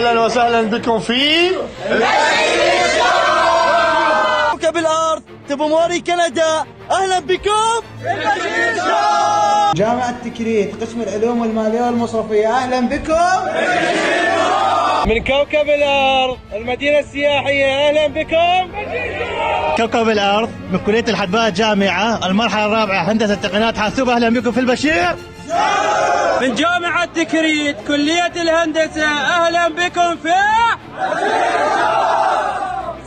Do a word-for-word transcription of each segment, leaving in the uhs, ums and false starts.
اهلا وسهلا بكم في كوكب الارض. تبو موري كندا، اهلا بكم في البشير شو. جامعة تكريت قسم العلوم والمالية والمصرفية، اهلا بكم في البشير شو. من كوكب الارض المدينة السياحية، اهلا بكم كوكب الارض من كلية الحدباء جامعة المرحلة الرابعة هندسة تقنيات حاسوب، اهلا بكم في البشير. من جامعة تكريت كلية الهندسة، أهلا بكم في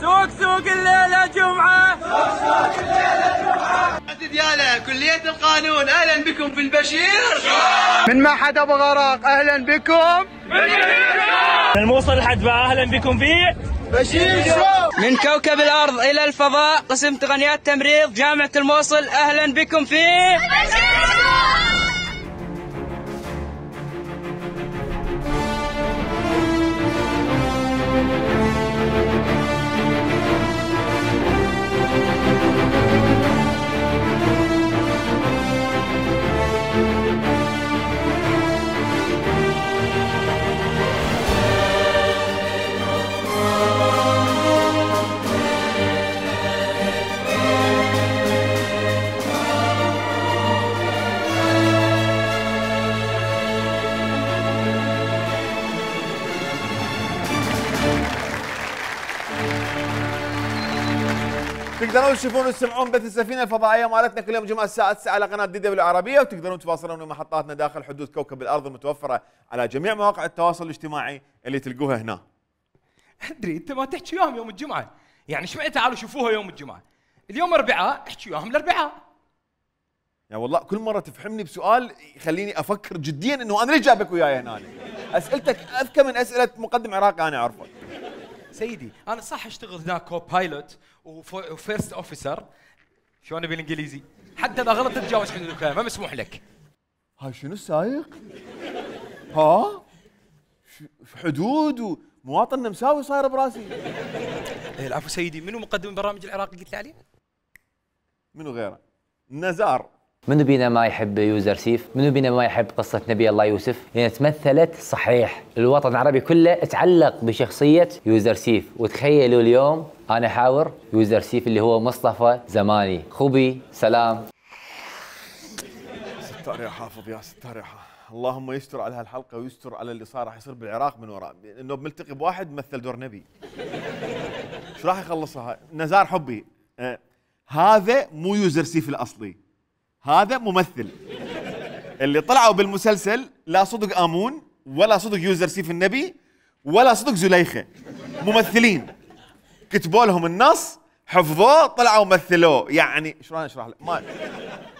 سوق سوق الليلة جمعة. سوق سوق الليلة جمعة. ديالة كلية القانون، أهلا بكم في البشير. من معهد أبو غراق، أهلا بكم من الموصل الحدباء، أهلا بكم في بشير شو. من كوكب الأرض إلى الفضاء قسم تقنيات تمريض جامعة الموصل، أهلا بكم في بشير شو. تقدرون تشوفون وتسمعون بث السفينه الفضائيه مالتنا كل يوم جمعه الساعه تسعة على قناه دي دبليو العربيه، وتقدرون تواصلون ويا محطاتنا داخل حدود كوكب الارض المتوفره على جميع مواقع التواصل الاجتماعي اللي تلقوها هنا. ادري انت ما تحكي وياهم يوم الجمعه، يعني ايش معنى تعالوا شوفوها يوم الجمعه؟ اليوم اربعاء احكي وياهم الاربعاء. يا والله كل مره تفهمني بسؤال يخليني افكر جديا انه انا ليش جابك وياي هنا؟ اسئلتك اذكى من اسئله مقدم عراقي انا اعرفه. سيدي انا صح اشتغل هناك كو بايلوت وفيرست اوفيسر، شلون بالانجليزي؟ حتى اذا غلط تتجاوز حدود الكلام، ما مسموح لك. هاي شنو السايق؟ ها؟ حدود ومواطن نمساوي صاير براسي. إيه العفو سيدي، منو مقدم البرامج العراقي قلت لي عليه؟ منو غيره؟ نزار. منو بينا ما يحب يوزر سيف؟ منو بينا ما يحب قصة نبي الله يوسف؟ هي تمثلت صحيح، الوطن العربي كله تعلق بشخصية يوزر سيف، وتخيلوا اليوم أنا حاور يوزر سيف اللي هو مصطفى زماني، خوبي سلام. ستار يا حافظ يا ستار يا حافظ، اللهم يستر على هالحلقة ويستر على اللي صار راح يصير بالعراق من وراء، انه بملتقي بواحد مثل دور نبي. شو راح يخلصها؟ نزار حبي، آه هذا مو يوزر سيف الأصلي، هذا ممثل. اللي طلعوا بالمسلسل لا صدق آمون ولا صدق يوزر سيف النبي ولا صدق زليخة، ممثلين كتبوا لهم النص حفظوه طلعوا مثلوه، يعني شو راح اشرح لك؟ ما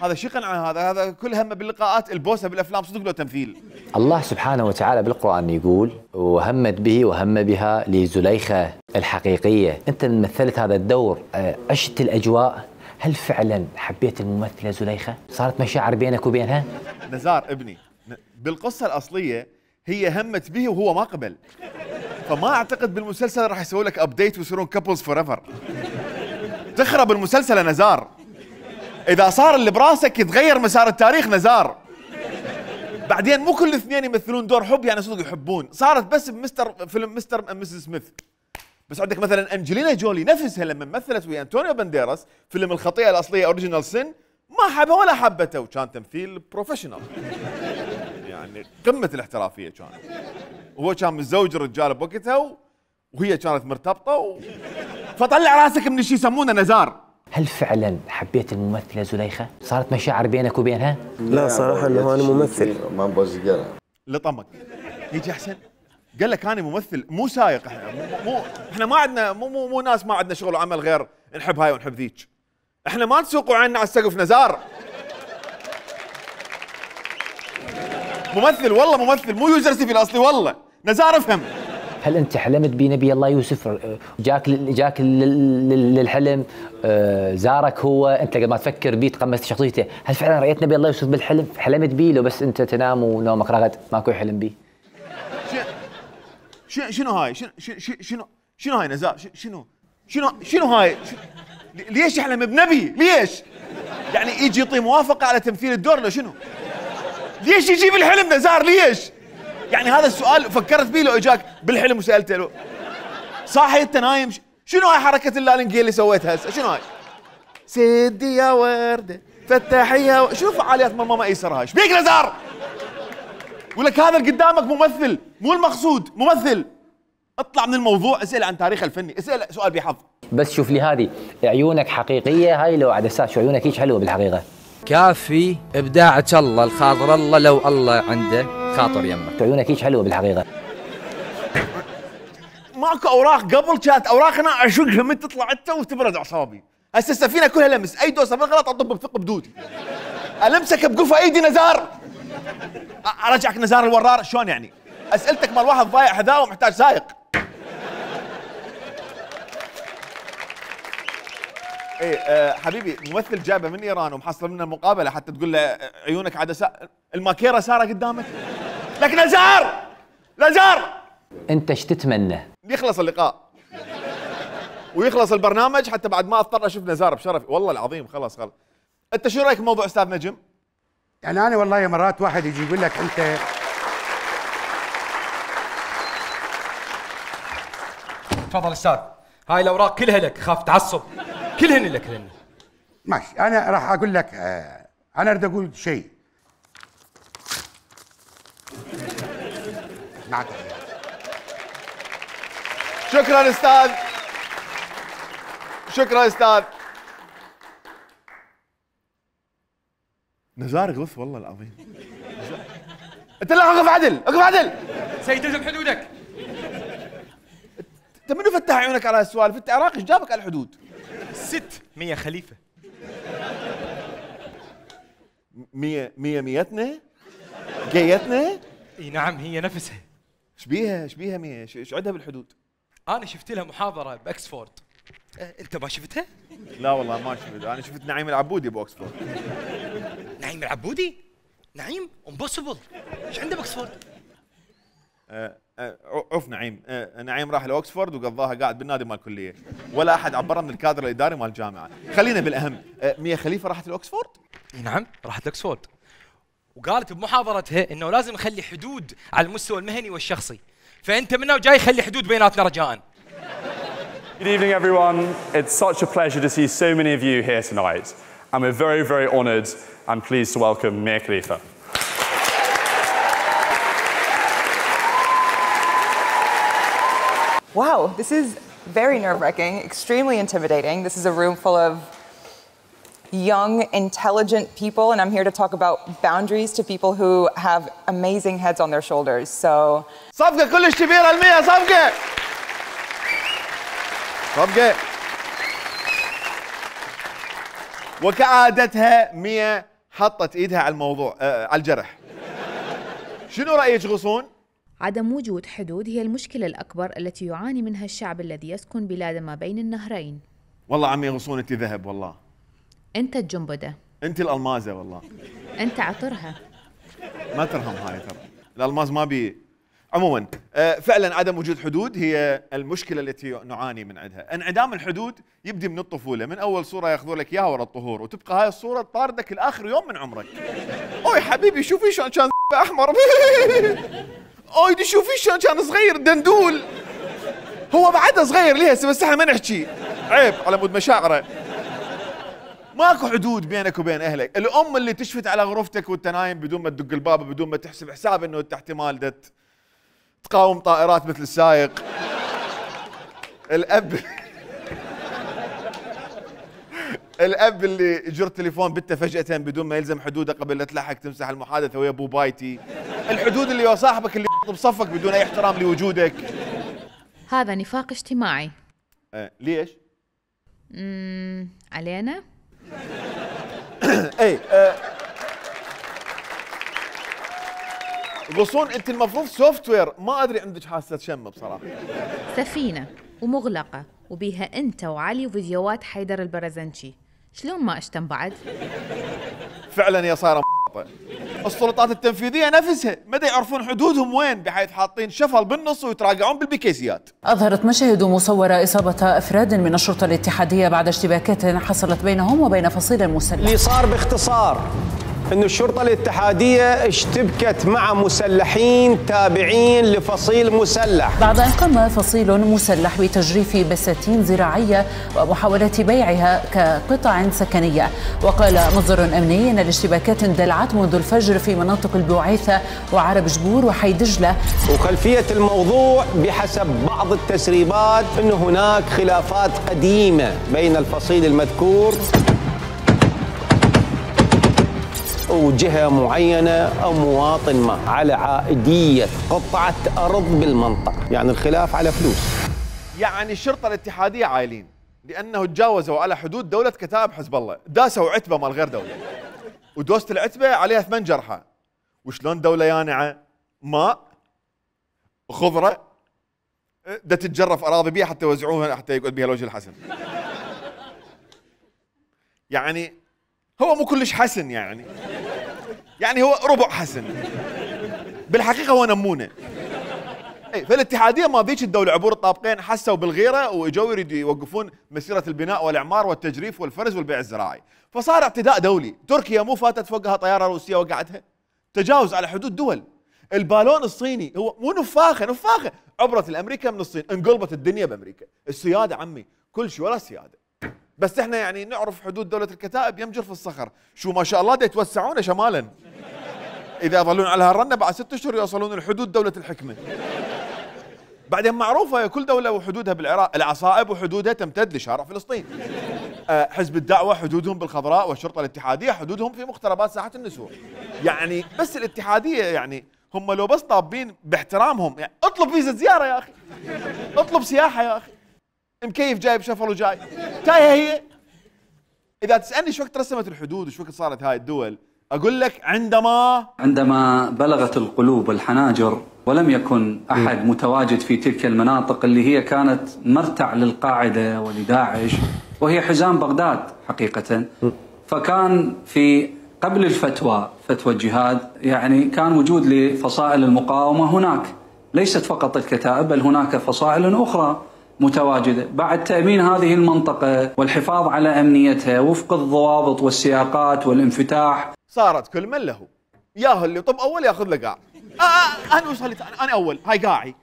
هذا شو قنعه؟ هذا هذا كل همه باللقاءات البوسه بالافلام صدق له تمثيل. الله سبحانه وتعالى بالقرآن يقول وهمت به وهم بها لزليخة الحقيقية. انت مثلت هذا الدور، عشت الاجواء، هل فعلا حبيت الممثلة زليخة؟ صارت مشاعر بينك وبينها؟ نزار ابني بالقصة الأصلية هي همت به وهو ما قبل، فما أعتقد بالمسلسل راح يسوي لك أبديت ويصيرون كابلز فور ايفر. تخرب المسلسل يا نزار، إذا صار اللي براسك يتغير مسار التاريخ نزار. بعدين مو كل الاثنين يمثلون دور حب يعني صدق يحبون، صارت بس بمستر فيلم مستر أند مسز سميث. بس عندك مثلا انجلينا جولي نفسها لما مثلت ويا انطونيو بانديراس فيلم الخطيئه الاصليه اوريجينال سن، ما حبها ولا حبته، وكان تمثيل بروفيشنال يعني قمه الاحترافيه كان. وهو كان متزوج الرجال بوقتها وهي كانت مرتبطه و... فطلع راسك من شيء يسمونه نزار. هل فعلا حبيت الممثله زليخه؟ صارت مشاعر بينك وبينها؟ لا صراحه انه انا ممثل ما نبوزقها. لطمك يجي احسن قال لك انا ممثل مو سايق. احنا مو, مو احنا ما عندنا مو مو, مو ناس ما عندنا شغل وعمل غير نحب هاي ونحب ذيك. احنا ما نسوقوا عنا على السقف نزار. ممثل والله ممثل مو يوزر سيف الاصلي والله نزار افهم. هل انت حلمت بنبي الله يوسف؟ جاك جاك للحلم، زارك هو، انت قبل ما تفكر بيه تقمصت شخصيته، هل فعلا رايت نبي الله يوسف بالحلم؟ حلمت بيه لو بس انت تنام ونومك رغد ماكو حلم بيه؟ شنو هاي؟ شنو شنو شنو هاي نزار؟ شنو شنو شنو هاي؟ ليش يحلم بنبي؟ ليش؟ يعني يجي يعطي موافقة على تمثيل الدور لو شنو؟ ليش يجي بالحلم نزار ليش؟ يعني هذا السؤال فكرت بيه لو اجاك بالحلم وسالته له صاحي انت نايم شنو هاي حركه اللالنجيه اللي سويتها هسه شنو هاي؟ سدي يا ورده فتحي يا و... شنو فعاليات مرمى ايسر هاي؟ ايش بيك نزار؟ يقول لك هذا اللي قدامك ممثل مو المقصود ممثل. اطلع من الموضوع اسال عن تاريخ الفني اسال سؤال بحظ. بس شوف لي هذه عيونك حقيقيه هاي لو عدسات شو عيونك هيك حلوه بالحقيقه. كافي ابداعك الله الخاطر الله لو الله عنده خاطر يمك. عيونك هيك حلوه بالحقيقه. ماكو اوراق قبل كانت اوراقنا اشقها من تطلع انت وتبرد اعصابي. هسه السفينه كلها لمس اي دوسه بالغلط اطب بثق بدودي. المسك بقفا ايدي نزار. ارجعك نزار الورار شلون يعني؟ اسئلتك مال واحد ضايع حذاء ومحتاج سايق. ايه أه حبيبي ممثل جايبه من ايران ومحصل منا المقابله حتى تقول له عيونك عدساء الماكيره ساره قدامك. لك نزار نزار انت ايش تتمنى؟ يخلص اللقاء ويخلص البرنامج حتى بعد ما اضطر اشوف نزار بشرف والله العظيم. خلاص خلاص. انت شو رايك بموضوع استاذ نجم؟ يعني انا والله مرات واحد يجي يقول لك انت تفضل استاذ هاي الاوراق كلها لك خاف تعصب كلهن لك هن. ماشي انا راح اقول لك آه انا اريد اقول شيء. معك شكرا استاذ شكرا استاذ نزار غث والله العظيم. انت لا اقف عدل اقف عدل سيد الزم حدودك. انت منو فتح عيونك على هالسوالف؟ انت عراقي ايش جابك على الحدود؟ ست مية خليفه. مية مية ميتنا؟ جيتنا؟ اي نعم هي نفسها. ايش بيها ايش بيها مية؟ ايش عندها بالحدود؟ انا شفت لها محاضره باكسفورد. أه انت ما شفتها؟ لا والله ما شفت. انا شفت نعيم العبودي باكسفورد. نعيم العبودي؟ نعيم امبوسيبل ايش عنده باكسفورد؟ أه أه عف نعيم. أه نعيم راح لاوكسفورد وقضاها قاعد بالنادي مال الكليه ولا احد عبره من الكادر الاداري مال الجامعه. خلينا بالاهم. أه مية خليفه راحت لاوكسفورد؟ نعم راحت لاوكسفورد وقالت بمحاضرتها انه لازم نخلي حدود على المستوى المهني والشخصي. فانت منه وجاي خلي حدود بيناتنا رجاء. Good evening everyone. It's such a pleasure to see so many of you here tonight. And we're very, very honoured and pleased to welcome Mia Khalifa. Wow, this is very nerve-wracking, extremely intimidating. This is a room full of young, intelligent people, and I'm here to talk about boundaries to people who have amazing heads on their shoulders. So صفقة كلش كبيرة المية صفقة صفقة وكعادتها مية حطت ايدها على الموضوع آه على الجرح. شنو رأيك غصون؟ عدم وجود حدود هي المشكلة الأكبر التي يعاني منها الشعب الذي يسكن بلاد ما بين النهرين. والله عمي غصون انت ذهب والله. أنت الجنبدة. انت الألمازة والله. أنت عطرها. ما ترهم هاي ترى. الألماز ما بي. عموما آه فعلا عدم وجود حدود هي المشكلة التي نعاني من عندها. انعدام الحدود يبدي من الطفولة، من أول صورة ياخذوا لك إياها ورا الطهور وتبقى هاي الصورة تطاردك الآخر يوم من عمرك. أوي حبيبي شوفي شلون كان أحمر. أوي دي شوفي شلون كان صغير دندول. هو بعده صغير ليه بس احنا ما نحكي. عيب على مود مشاعره. ماكو حدود بينك وبين اهلك. الام اللي تشفت على غرفتك وانت نايم بدون ما تدق الباب بدون ما تحسب حساب انه انت احتمال دت تقاوم طائرات مثل السايق. الاب الاب اللي يجر تليفون بنته فجأة بدون ما يلزم حدوده قبل لا تلحق تمسح المحادثة ويا ابو بايتي. الحدود اللي هو صاحبك اللي بصفك بدون اي احترام لوجودك. هذا نفاق اجتماعي. أه ليش؟ امم علينا؟ اي أه غصون انت المفروض سوفت وير، ما ادري عندك حاسه شم بصراحه. سفينه ومغلقه وبيها انت وعلي وفيديوهات حيدر البرزنشي، شلون ما اشتم بعد؟ فعلا يا صايره السلطات التنفيذيه نفسها ما يعرفون حدودهم وين، بحيث حاطين شفل بالنص ويتراجعون بالبيكيسيات. أظهرت مشاهد مصورة إصابة أفراد من الشرطة الاتحادية بعد اشتباكات حصلت بينهم وبين فصيل مسلح. اللي صار باختصار أن الشرطة الاتحادية اشتبكت مع مسلحين تابعين لفصيل مسلح بعد أن قام فصيل مسلح بتجريف بساتين زراعية ومحاولة بيعها كقطع سكنية. وقال مصدر أمني أن الاشتباكات اندلعت منذ الفجر في مناطق البوعيثة وعرب جبور وحي دجلة. وخلفية الموضوع بحسب بعض التسريبات أن هناك خلافات قديمة بين الفصيل المذكور وجهة معينة أو مواطن ما على عائدية قطعة أرض بالمنطقة، يعني الخلاف على فلوس. يعني الشرطة الاتحادية عايلين لأنه تجاوزوا على حدود دولة كتائب حزب الله، داسوا عتبة مال غير دولة، ودوسة العتبة عليها ثمان جرحى. وشلون دولة يانعة ماء خضرة دا تتجرف أراضي بيها حتى يوزعوها حتى يقعد بيها الوجه الحسن. يعني هو مو كلش حسن، يعني يعني هو ربع حسن بالحقيقة، هو نمونة. اي فالاتحادية ما ذيك الدولة عبور الطابقين حسوا بالغيرة واجوا يريدوا يوقفون مسيرة البناء والإعمار والتجريف والفرز والبيع الزراعي، فصار اعتداء دولي. تركيا مو فاتت فوقها طيارة روسية وقعتها؟ تجاوز على حدود دول. البالون الصيني هو مو نفاخة، نفاخة عبرت الأمريكا من الصين، انقلبت الدنيا بأمريكا. السيادة عمي كل شيء ولا سيادة، بس احنا يعني نعرف حدود دولة الكتائب يم جرف الصخر، شو ما شاء الله دا يتوسعون شمالا. إذا يظلون على هالرنة بعد ست أشهر يوصلون لحدود دولة الحكمة. بعدين معروفة كل دولة وحدودها بالعراق، العصائب وحدودها تمتد لشارع فلسطين. أه حزب الدعوة حدودهم بالخضراء، والشرطة الاتحادية حدودهم في مقتربات ساحة النسور. يعني بس الاتحادية يعني هم لو بس طابين باحترامهم، يعني اطلب فيزا زيارة يا أخي، اطلب سياحة يا أخي، مكيف جايب شفر وجاي، تايهة هي. إذا تسألني شو وقت رسمت الحدود وشو وقت صارت هاي الدول، أقول لك عندما عندما بلغت القلوب الحناجر ولم يكن أحد متواجد في تلك المناطق اللي هي كانت مرتع للقاعدة ولداعش، وهي حزام بغداد حقيقة. فكان في قبل الفتوى فتوى الجهاد يعني كان وجود لفصائل المقاومة هناك، ليست فقط الكتائب بل هناك فصائل أخرى متواجدة. بعد تأمين هذه المنطقة والحفاظ على أمنيتها وفق الضوابط والسياقات والانفتاح، صارت كل من له، ياهو اللي طب أول ياخذ له قاع. آه آه أنا وصلت أنا أول هاي قاعي،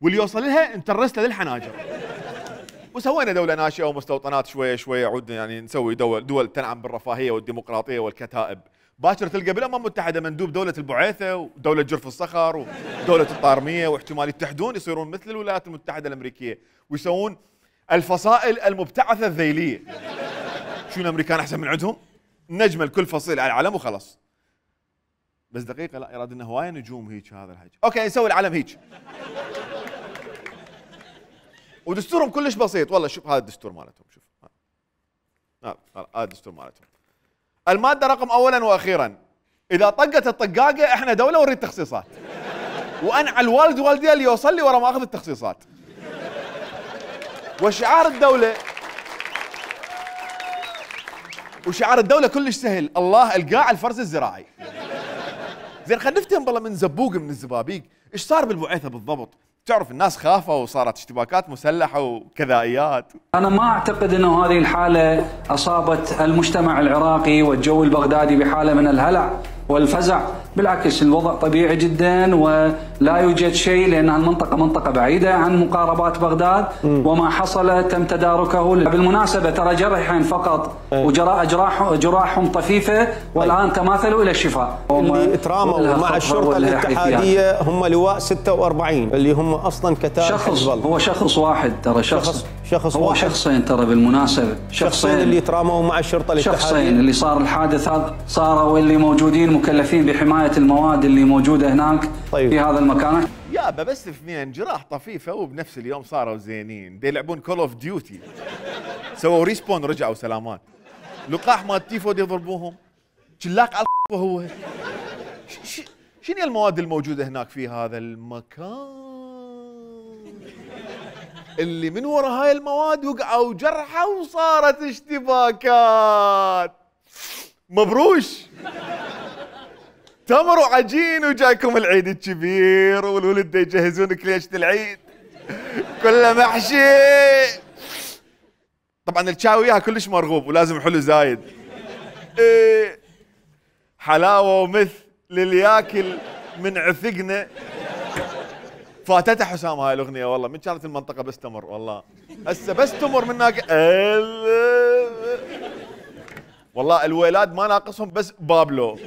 واللي يوصل لها نترس له للحناجر. وسوينا دولة ناشئة ومستوطنات شوية شوية، عودنا يعني نسوي دول دول تنعم بالرفاهية والديمقراطية والكتائب. باكر تلقى بالأمم المتحدة مندوب دولة البعيثة ودولة جرف الصخر ودولة الطارمية، واحتمال يتحدون يصيرون مثل الولايات المتحدة الأمريكية ويسوون الفصائل المبتعثة الذيلية. شو الأمريكان أحسن من عندهم؟ نجمل كل فصيل على العلم وخلاص. بس دقيقة لا يراد انه هواية نجوم هيك هذا الحكي. اوكي نسوي العلم هيك. ودستورهم كلش بسيط والله. شوف هذا الدستور مالتهم، شوف هذا هذا الدستور مالتهم. المادة رقم اولا واخيرا، اذا طقت الطقاقة احنا دولة ونريد تخصيصات، وانا على الوالد والدي اللي يوصل لي ورا ما اخذ التخصيصات. وشعار الدولة وشعار الدولة كلش سهل، الله القاع الفرز الزراعي. زين خلينا نفتهم بالله من زبوق من الزبابيق، ايش صار بالبعيثة بالضبط؟ تعرف الناس خافوا وصارت اشتباكات مسلحة وكذائيات. أنا ما أعتقد أنه هذه الحالة أصابت المجتمع العراقي والجو البغدادي بحالة من الهلع والفزع، بالعكس الوضع طبيعي جدا ولا يوجد شيء، لأن المنطقة منطقة بعيدة عن مقاربات بغداد، وما حصل تم تداركه. بالمناسبة ترى جرحين فقط وجراء جراح جراحهم طفيفة والآن تماثلوا إلى الشفاء. اللي تراموا مع الشرطة الاتحادية هم لواء ستة وأربعين اللي هم أصلا كتائب شخص، هو شخص واحد ترى، شخص شخص, شخص هو واحد. شخصين ترى بالمناسبة، شخصين اللي تراموا مع الشرطة الاتحادية، شخصين اللي صار الحادث هذا صاروا واللي موجودين مكلفين بحماية المواد اللي موجودة هناك. طيب. في هذا المكان يابا بس اثنين جراح طفيفة وبنفس اليوم صاروا زينين، دي يلعبون كول اوف ديوتي، سووا ريسبون رجعوا سلامات. لقاح مال تيفو دي يضربوهم، شلاق على هو. شنو المواد الموجودة هناك في هذا المكان اللي من وراء هاي المواد وقعوا جرحى وصارت اشتباكات؟ مبروش، تمر وعجين وجايكم العيد الكبير والولد دا يجهزون كليشة العيد كله محشي. طبعا الشاي وياها كلش مرغوب ولازم حلو زايد. إيه حلاوه ومثل للياكل من عثقنا. فاتتها حسام هاي الاغنيه والله، من كانت المنطقه بس تمر والله، هسه بس تمر من هناك والله الويلاد ما ناقصهم بس بابلو.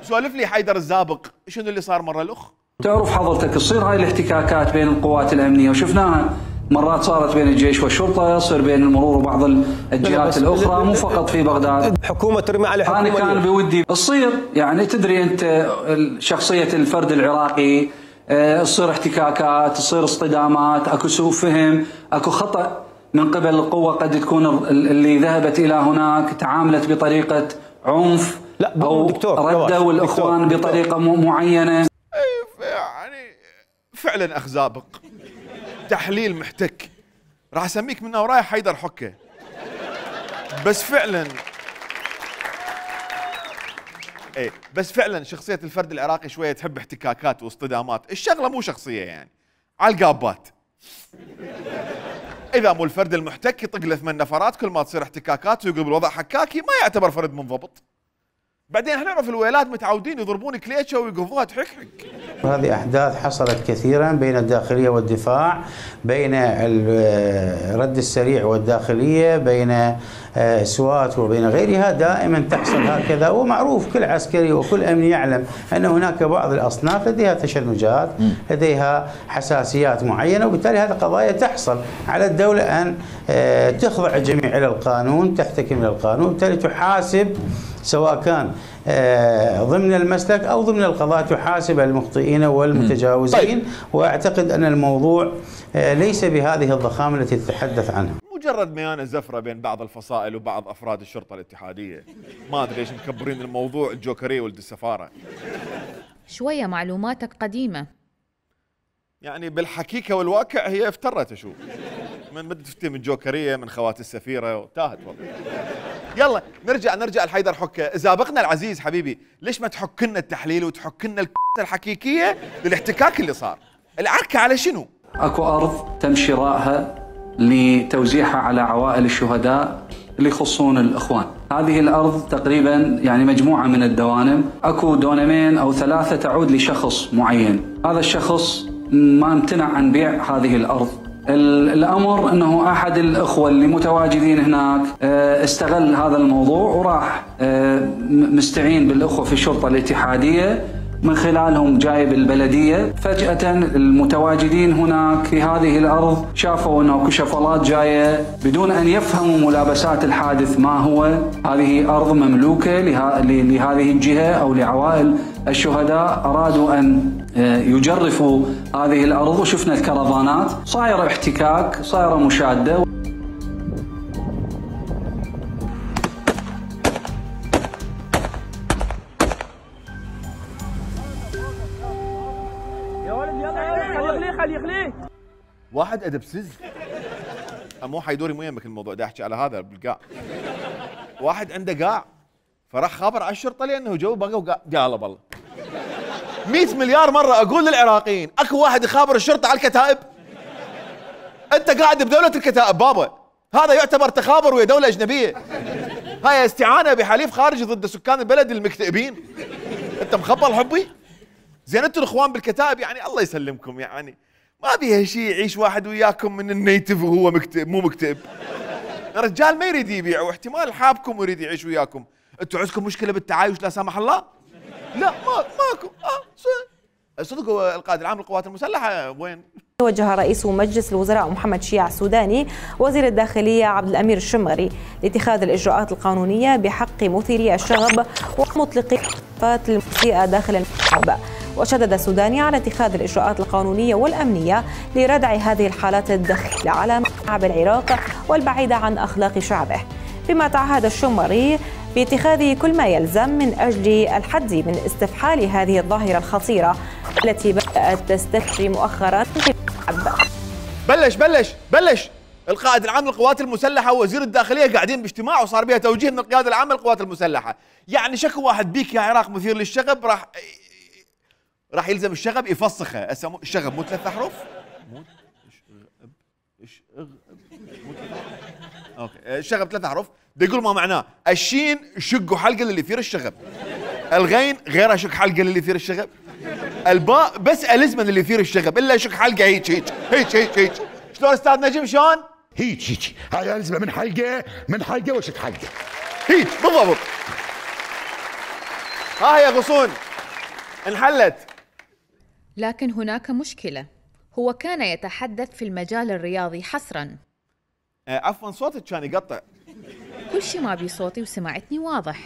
سولف لي حيدر الزابق شنو اللي صار مره الاخ؟ تعرف حضرتك تصير هاي الاحتكاكات بين القوات الامنيه وشفناها مرات صارت بين الجيش والشرطه، يصير بين المرور وبعض الجهات الاخرى مو فقط في بغداد. حكومه ترمي على حكومه. انا كان بودي تصير يعني تدري انت شخصيه الفرد العراقي تصير احتكاكات، تصير اصطدامات، اكو سوء فهم، اكو خطا من قبل القوه، قد تكون اللي ذهبت الى هناك تعاملت بطريقه عنف لا او ردوا الاخوان دكتور بطريقه دكتور معينه. يعني فعلا اخ زابق، تحليل محتك، راح اسميك منها ورايح حيدر حكه. بس فعلا ايه بس فعلا شخصيه الفرد العراقي شويه تحب احتكاكات واصطدامات، الشغله مو شخصيه يعني على القابات. اذا مو الفرد المحتك يطق له ثمان نفرات، كل ما تصير احتكاكات ويقلب الوضع حكاكي ما يعتبر فرد منضبط. بعدين احنا نعرف الويلات متعودين يضربون كليتشه ويقفوها تحكحك. هذه أحداث حصلت كثيرا بين الداخلية والدفاع، بين الرد السريع والداخلية، بين سوات وبين غيرها، دائما تحصل هكذا. ومعروف كل عسكري وكل أمني يعلم أن هناك بعض الأصناف لديها تشنجات، لديها حساسيات معينة، وبالتالي هذه قضايا تحصل. على الدولة أن تخضع الجميع إلى القانون، تحتكم إلى القانون، وبالتالي تحاسب سواء كان ضمن المسلك أو ضمن القضاء، تحاسب المخطئين والمتجاوزين. طيب. وأعتقد أن الموضوع ليس بهذه الضخامة التي تتحدث عنها. مجرد ميانة زفرة بين بعض الفصائل وبعض أفراد الشرطة الاتحادية، ما أدري ليش مكبرين الموضوع الجوكرية ولد السفارة. شوية معلوماتك قديمة يعني بالحقيقة والواقع هي افترت أشوف، من بدأت تفتي من جوكرية من خوات السفيرة وتاهت والله. يلا نرجع نرجع لحيدر حكة. زابقنا العزيز حبيبي، ليش ما تحك لنا التحليل وتحك لنا الحقيقية للاحتكاك اللي صار؟ العركة على شنو؟ اكو ارض تم شرائها لتوزيعها على عوائل الشهداء اللي يخصون الاخوان. هذه الارض تقريبا يعني مجموعة من الدوانم، اكو دونمين او ثلاثة تعود لشخص معين، هذا الشخص ما امتنع عن بيع هذه الارض. الامر انه احد الاخوه اللي متواجدين هناك استغل هذا الموضوع وراح مستعين بالاخوه في الشرطه الاتحاديه، من خلالهم جايب البلديه. فجاه المتواجدين هناك في هذه الارض شافوا انه اكو شفلات جايه بدون ان يفهموا ملابسات الحادث ما هو. هذه ارض مملوكه لهذه الجهه او لعوائل الشهداء، ارادوا ان يجرفوا هذه الارض، وشفنا الكرفانات صايره احتكاك، صايره مشاده. يا ولد يلا خليه خليه خليه. واحد ادبسز مو حيدوري مو يمك الموضوع، دا احكي على هذا بالقاع. واحد عنده قاع فراح خابر على الشرطه لانه جو بقى وقاع. يلا بالله مئة مليار مرة أقول للعراقيين، أكو واحد يخابر الشرطة على الكتائب؟ أنت قاعد بدولة الكتائب بابا، هذا يعتبر تخابر ويا دولة أجنبية. هاي استعانة بحليف خارجي ضد سكان البلد المكتئبين. أنت مخبل حبي؟ زين أنتوا الإخوان بالكتائب يعني الله يسلمكم، يعني ما بيها شيء يعيش واحد وياكم من النيتف وهو مكتئب مو مكتئب. رجال ما يريد يبيع، واحتمال حابكم ويريد يعيش وياكم. أنتوا عندكم مشكلة بالتعايش لا سامح الله؟ لا ما ماكو. اه صدق القائد العام للقوات المسلحه وين؟ توجه رئيس مجلس الوزراء محمد شيع السوداني وزير الداخليه عبد الامير الشمغري لاتخاذ الاجراءات القانونيه بحق مثيري الشغب ومطلقي الصفات المسيئه داخل الملعب. وشدد السوداني على اتخاذ الاجراءات القانونيه والامنيه لردع هذه الحالات الدخيله على ملعب العراق والبعيده عن اخلاق شعبه، بما تعهد الشمغري باتخاذ كل ما يلزم من أجل الحد من استفحال هذه الظاهرة الخطيرة التي بدأت تستفشي مؤخرا في الشعب. بلش بلش بلش القائد العام للقوات المسلحة ووزير الداخلية قاعدين باجتماع وصار بها توجيه من القيادة العامة للقوات المسلحة. يعني شكو واحد بيك يا عراق مثير للشغب راح راح يلزم الشغب يفسخه. الشغب مو ثلاث أحرف؟ مو اوكي الشغب ثلاث أحرف، دا يقول ما معناه. الشين شق حلقه للي يثير الشغب. الغين غير شق حلقه للي يثير الشغب. الباء بس الزمن اللي يثير الشغب، الا شق حلقه هيك هيك هيك هيك هيك. شلون استاذ نجم شلون؟ هيك هيك، هاي الزمه من حلقه من حلقه وشق حلقه. هيك بالضبط. ها هي غصون انحلت. لكن هناك مشكلة، هو كان يتحدث في المجال الرياضي حصرا. آه عفوا صوتك كان يقطع. كل شي ما بي صوتي وسمعتني واضح،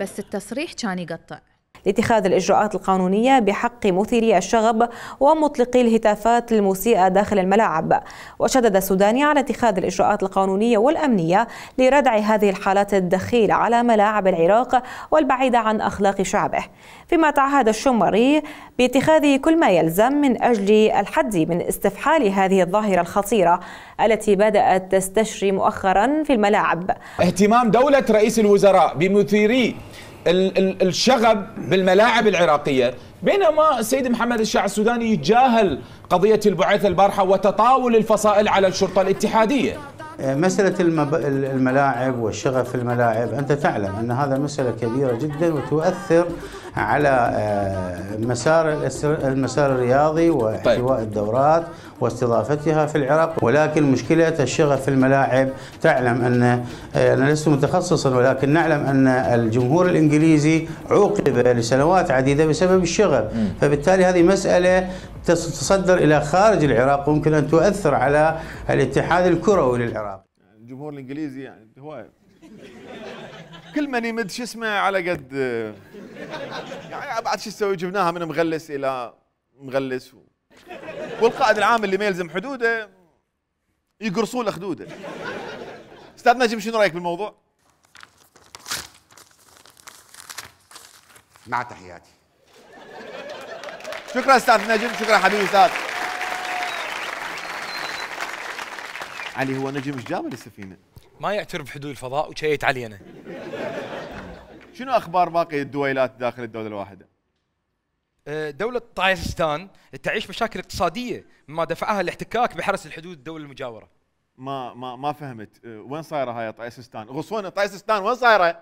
بس التصريح كان يقطع. لاتخاذ الإجراءات القانونية بحق مثيري الشغب ومطلقي الهتافات المسيئة داخل الملاعب. وشدد السوداني على اتخاذ الإجراءات القانونية والأمنية لردع هذه الحالات الدخيلة على ملاعب العراق والبعيدة عن أخلاق شعبه، فيما تعهد الشمري باتخاذ كل ما يلزم من أجل الحد من استفحال هذه الظاهرة الخطيرة التي بدأت تستشري مؤخرا في الملاعب. اهتمام دولة رئيس الوزراء بمثيري الشغب بالملاعب العراقية، بينما السيد محمد الشاع السوداني يتجاهل قضية البعثة البارحة وتطاول الفصائل على الشرطة الاتحادية. مسألة الملاعب والشغب في الملاعب، أنت تعلم أن هذا مسألة كبيرة جدا وتؤثر على مسار المسار الرياضي واحتواء الدورات واستضافتها في العراق. ولكن مشكلة الشغب في الملاعب، تعلم أن أنا لست متخصصا ولكن نعلم أن الجمهور الإنجليزي عوقب لسنوات عديدة بسبب الشغب، فبالتالي هذه مسألة تصدر إلى خارج العراق وممكن أن تؤثر على الاتحاد الكروي للعراق. الجمهور الإنجليزي يعني هو كل من يمد شو اسمه على قد يعني بعد شو تسوي، جبناها من مغلس إلى مغلس، والقائد العام اللي ما يلزم حدوده يقرصوا له خدوده. استاذ نجم شنو رايك بالموضوع؟ مع تحياتي. شكرا استاذ نجم، شكرا حبيبي استاذ علي. هو نجم ايش جابه للسفينه؟ ما يعترف بحدود الفضاء وشيت علي انا. شنو اخبار باقي الدويلات داخل الدوله الواحده؟ دولة طايسستان تعيش مشاكل اقتصادية مما دفعها الاحتكاك بحرس الحدود الدول المجاورة. ما ما ما فهمت، وين صايرة هاي طايسستان؟ غصون طايسستان وين صايرة؟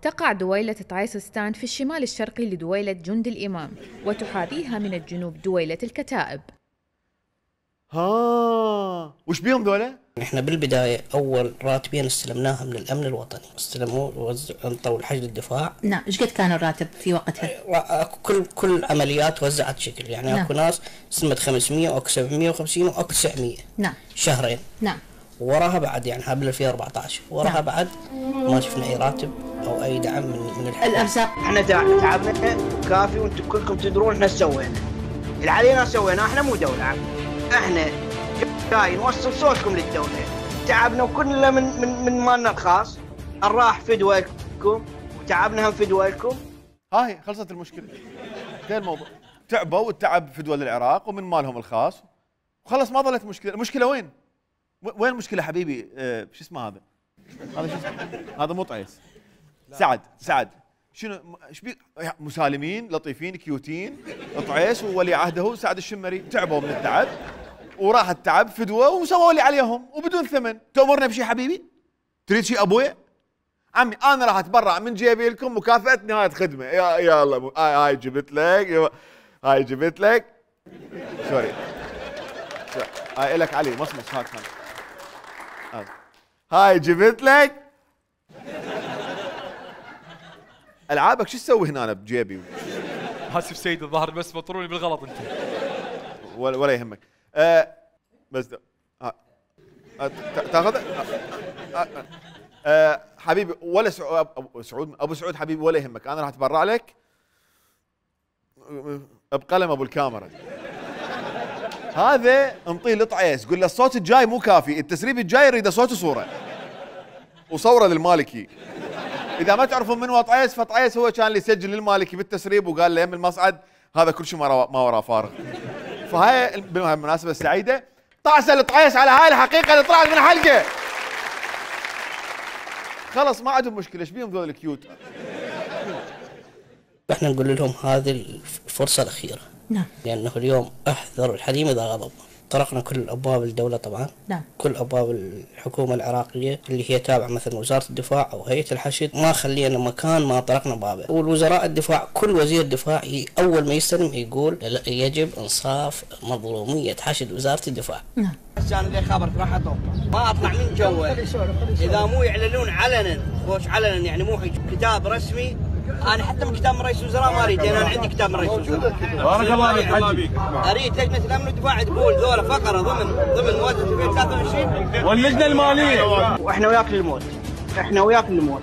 تقع دويلة طايسستان في الشمال الشرقي لدويلة جند الإمام، وتحاذيها من الجنوب دويلة الكتائب. ها وش بيهم ذولا؟ احنا بالبدايه اول راتبين استلمناها من الامن الوطني، استلموه انطوا الحشد الدفاع. نعم، ايش قد كان الراتب في وقتها؟ كل كل عمليات وزعت شكل، يعني نعم. اكو ناس استلمت خمسمية واكو سبعمية وخمسين واكو تسعمية. نعم. شهرين. نعم. وراها بعد يعني قبل ألفين وأربعة عشر، وراها نعم. بعد ما شفنا اي راتب او اي دعم من من الحكومه. الارزاق احنا تعبنا كافي وانتم كلكم تدرون احنا سوينا. اللي علينا سويناه، احنا مو دوله عم. احنا جاي نوصل صوتكم للدولة، تعبنا وكلنا من من من مالنا الخاص، الراح فدوى لكم وتعبنا هم فدوى لكم. هاي خلصت المشكلة. انتهى الموضوع. تعبوا والتعب فدوى للعراق ومن مالهم الخاص وخلص ما ظلت مشكلة. المشكلة وين؟ وين المشكلة حبيبي؟ اه شو اسمه هذا؟ هذا شو اسمه؟ هذا مو طعيس. سعد، سعد. شنو ايش بي مسالمين لطيفين كيوتين، طعيس وولي عهده سعد الشمري تعبوا من التعب وراح التعب فدوه وسووا لي عليهم وبدون ثمن. تأمرنا بشيء حبيبي؟ تريد شيء ابويا؟ عمي انا راح اتبرع من جيبي لكم مكافأة نهاية خدمة. يا يا الله هاي هاي جبت لك، هاي جبت لك سوري هاي لك علي مصمص هاك هاي هاي جبت لك. العابك شو تسوي هنا بجيبي؟ اسف سيد الظاهر بس مطروني بالغلط انت. ولا ولا يهمك. أه بس أه أه تاخذ أه أه حبيبي ولا سعود ابو سعود ابو سعود حبيبي ولا يهمك، انا راح اتبرع لك بقلم ابو الكاميرا. هذا انطيه لطعيس قول له الصوت الجاي مو كافي، التسريب الجاي يريد صوت وصوره وصوره للمالكي. اذا ما تعرفون من هو طعيس، فطعيس هو كان اللي يسجل للمالكي بالتسريب وقال له يم المصعد هذا كل شيء ما ما وراه فارغ. فهاي بالمناسبه السعيده طعسه لطعيس على هاي الحقيقه اللي طلعت من حلقه. خلص ما عندهم مشكله، ايش بيهم ذول الكيوت؟ احنا نقول لهم هذه الفرصه الاخيره. نعم. لانه اليوم احذر الحليم اذا غضب. طرقنا كل ابواب الدوله طبعا. نعم. كل ابواب الحكومه العراقيه اللي هي تابعه مثلا وزاره الدفاع او هيئه الحشد، ما خلينا مكان ما طرقنا بابه. والوزراء الدفاع كل وزير دفاع اول ما يستلم يقول يجب انصاف مظلوميه حشد وزاره الدفاع. نعم. انا اللي خبرت راح اطلع ما اطلع من جوه اذا مو يعلنون علنا، خوش علنا يعني مو كتاب رسمي. انا حتى من كتاب من رئيس الوزراء ما اريد، لان انا عندي كتاب من رئيس الوزراء. بارك الله فيك حجي. اريد لجنه الامن والدفاع تقول ذولا فقره ضمن ضمن مواد ألفين وثلاثة وعشرين، واللجنه الماليه واحنا وياك للموت، احنا وياك للموت.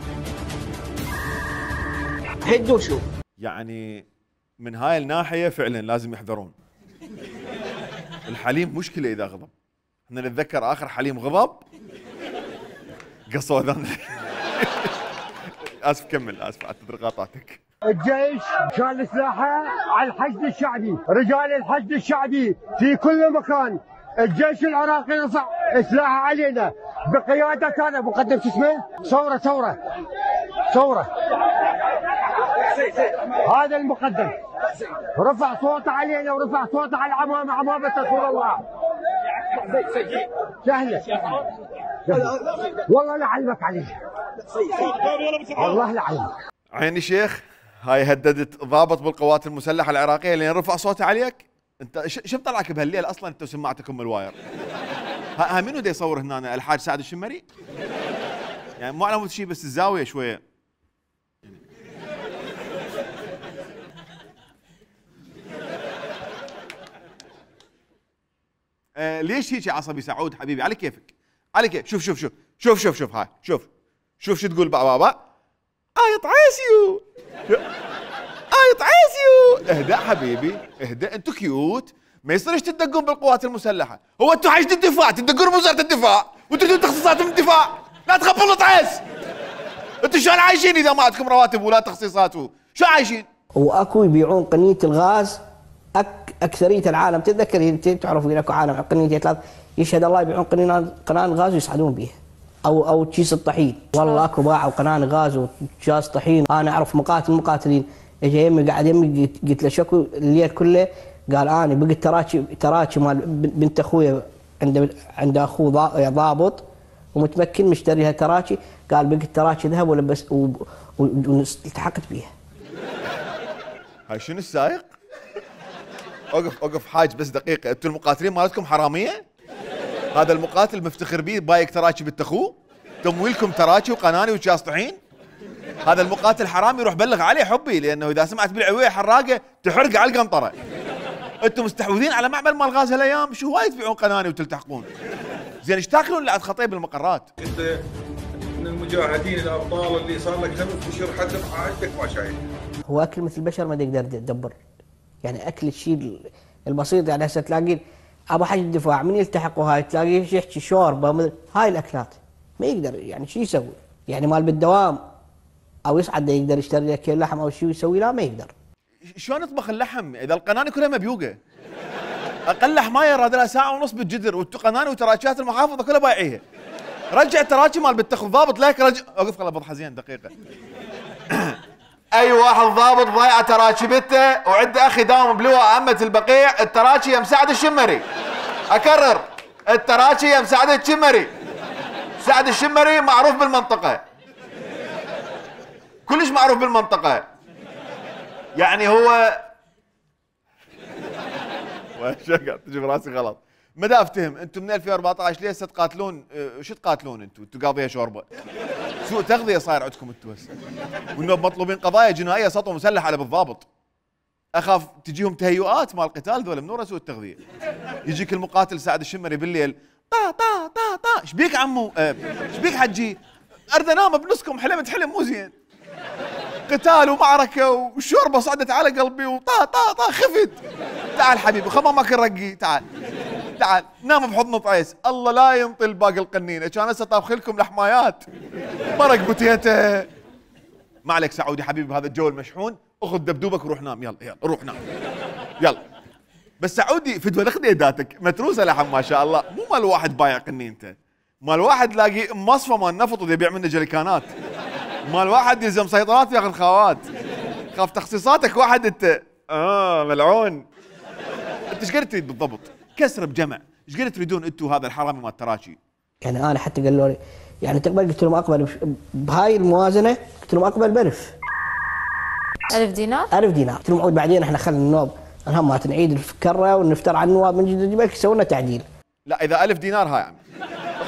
هدوا شوف. يعني من هاي الناحيه فعلا لازم يحذرون. الحليم مشكله اذا غضب. احنا نتذكر اخر حليم غضب قصوا اذان. اسف كمل، اسف اعتذر قاطعتك. الجيش كان سلاحه على الحشد الشعبي، رجال الحشد الشعبي في كل مكان. الجيش العراقي رفع سلاحه علينا بقياده انا مقدم شو اسمه؟ ثوره ثوره ثوره. هذا المقدم رفع صوته علينا ورفع صوته على العمامه، عمامه رسول الله. سهله والله لعلمك عليه، والله لعلمك. عيني شيخ، هاي هددت ضابط بالقوات المسلحه العراقيه لين رفع صوته عليك. انت شو طلعك بهالليل اصلا انت وسماعتك ام الواير؟ ها منو دا يصور هنا؟ الحاج سعد الشمري؟ يعني مو على مود شيء بس الزاويه شويه. آه ليش هيك عصبي سعود حبيبي؟ على كيفك، على كيف. شوف شوف شوف شوف شوف شوف هاي شوف شوف شو تقول بابا. آية عيسيو آية عيسيو. اهدأ حبيبي اهدأ، انتو كيوت، ما يصيرش تدقون بالقوات المسلحة. هو انتو حشد الدفاع تدقون بوزارة الدفاع وانتو تخصيصات من الدفاع. لا تخبلوا عيس. انتو شلون عايشين اذا ما عندكم رواتب ولا تخصيصات؟ شو عايشين؟ واكو يبيعون قنية الغاز أك أكثرية العالم. تتذكر انت تعرفوا اكو عالم قنية ثلاث يشهد الله يبيعون قنان قنان غاز ويصعدون بها. او او كيس الطحين، والله اكو باعوا قنان غاز وكيس طحين. انا اعرف مقاتل مقاتلين اجى يمي قاعد يمي قلت له شكو الليل كله، قال انا بقيت تراكي تراكي مال بنت اخوي عند عند اخوه ضابط ومتمكن مشتريها تراكي، قال بقيت تراكي ذهب ولبس والتحقت بيها. هاي شنو السايق؟ اوقف اوقف حاج بس دقيقه، انتم المقاتلين مالتكم حراميه؟ هذا المقاتل مفتخر بيه بايك تراكي بنت اخوه؟ تمويلكم تراكي وقناني وكاس طحين؟ هذا المقاتل حرامي، يروح بلغ عليه حبي، لانه اذا سمعت بالعويه حراقه تحرق على القنطره. انتم مستحوذين على معمل مال غاز هالايام، شو هواي تبيعون قناني وتلتحقون؟ زين ايش تاكلون اللي عند خطيب بالمقرات؟ انت من المجاهدين الابطال اللي صار لك خمس اشهر حتى عندك ما شايف. هو اكل مثل البشر ما يقدر يدبر، يعني اكل الشيء البسيط. يعني هسه تلاقي ابو حج الدفاع من يلتحقوا هاي تلاقيه يحكي شوربه، هاي الاكلات ما يقدر، يعني شو يسوي؟ يعني مال بالدوام او يصعد يقدر يشتري لك كيلو لحم او شيء يسوي؟ لا ما يقدر. شلون يطبخ اللحم اذا القناني كلها مبيوقه؟ اقل حمايه راد لها ساعه ونص بالجدر، والقناني وتراكيات المحافظه كلها بايعيها. رجع التراكي مال بنت ضابط لك رجع. اوقف خل بضحى زين دقيقه. اي واحد ضابط ضايع تراكي بنته وعنده اخي داوم بلواء امه البقيع، التراكي يا مساعد الشمري. اكرر، التراكي يا مساعد الشمري. سعد الشمري معروف بالمنطقه، كلش معروف بالمنطقه. يعني هو وش قاعد تجي براسي غلط. ما دا افتهم انتم من ألفين وأربعة عشر ليه هسه تقاتلون؟ شو تقاتلون انتم؟ انتم قاضيه شوربه. سوء تغذيه صاير عندكم انتم هسه. والنوب مطلوبين قضايا جنائيه سطو مسلح على بالضابط. اخاف تجيهم تهيؤات مال قتال ذولا من ورا سوء التغذيه. يجيك المقاتل سعد الشمري بالليل طا طا طا طا، ايش بيك عمو؟ ايش بيك حجي؟ اريد انام بنصكم، حلمت حلم مو زين. قتال ومعركه والشوربه صعدت على قلبي وطا طا طا خفت. تعال حبيبي خمام ماكل رقي، تعال تعال نام بحضن طعيس. الله لا ينطل باقي القنينه، كان هسه طابخ لكم لحمايات مرق بوتيته. ما عليك سعودي حبيبي بهذا الجو المشحون، اخذ دبدوبك وروح نام. يلا يلا روح نام يلا. بس سعودي فدوى خديداتك متروسه لحم ما شاء الله، مو مال واحد بايع قنينته، مال واحد لاقي مصفى مال نفط ويبيع منه جريكانات، مال واحد يلزم سيطرات وياخذ خاوات. خاف تخصيصاتك واحد انت اه ملعون. انت ايش قد تريد بالضبط؟ كسر بجمع، ايش قد تريدون انتم هذا الحرامي مال التراشي؟ يعني انا حتى قالوا لي يعني تقبل؟ قلت لهم اقبل بهاي الموازنه، قلت لهم اقبل بألف. ألف دينار؟ ألف دينار، قلت لهم بعدين احنا خلينا النوب الهم ما نعيد الكره ونفتر على النواب من جديد يبقى يسوي لنا تعديل. لا اذا ألف دينار هاي عمي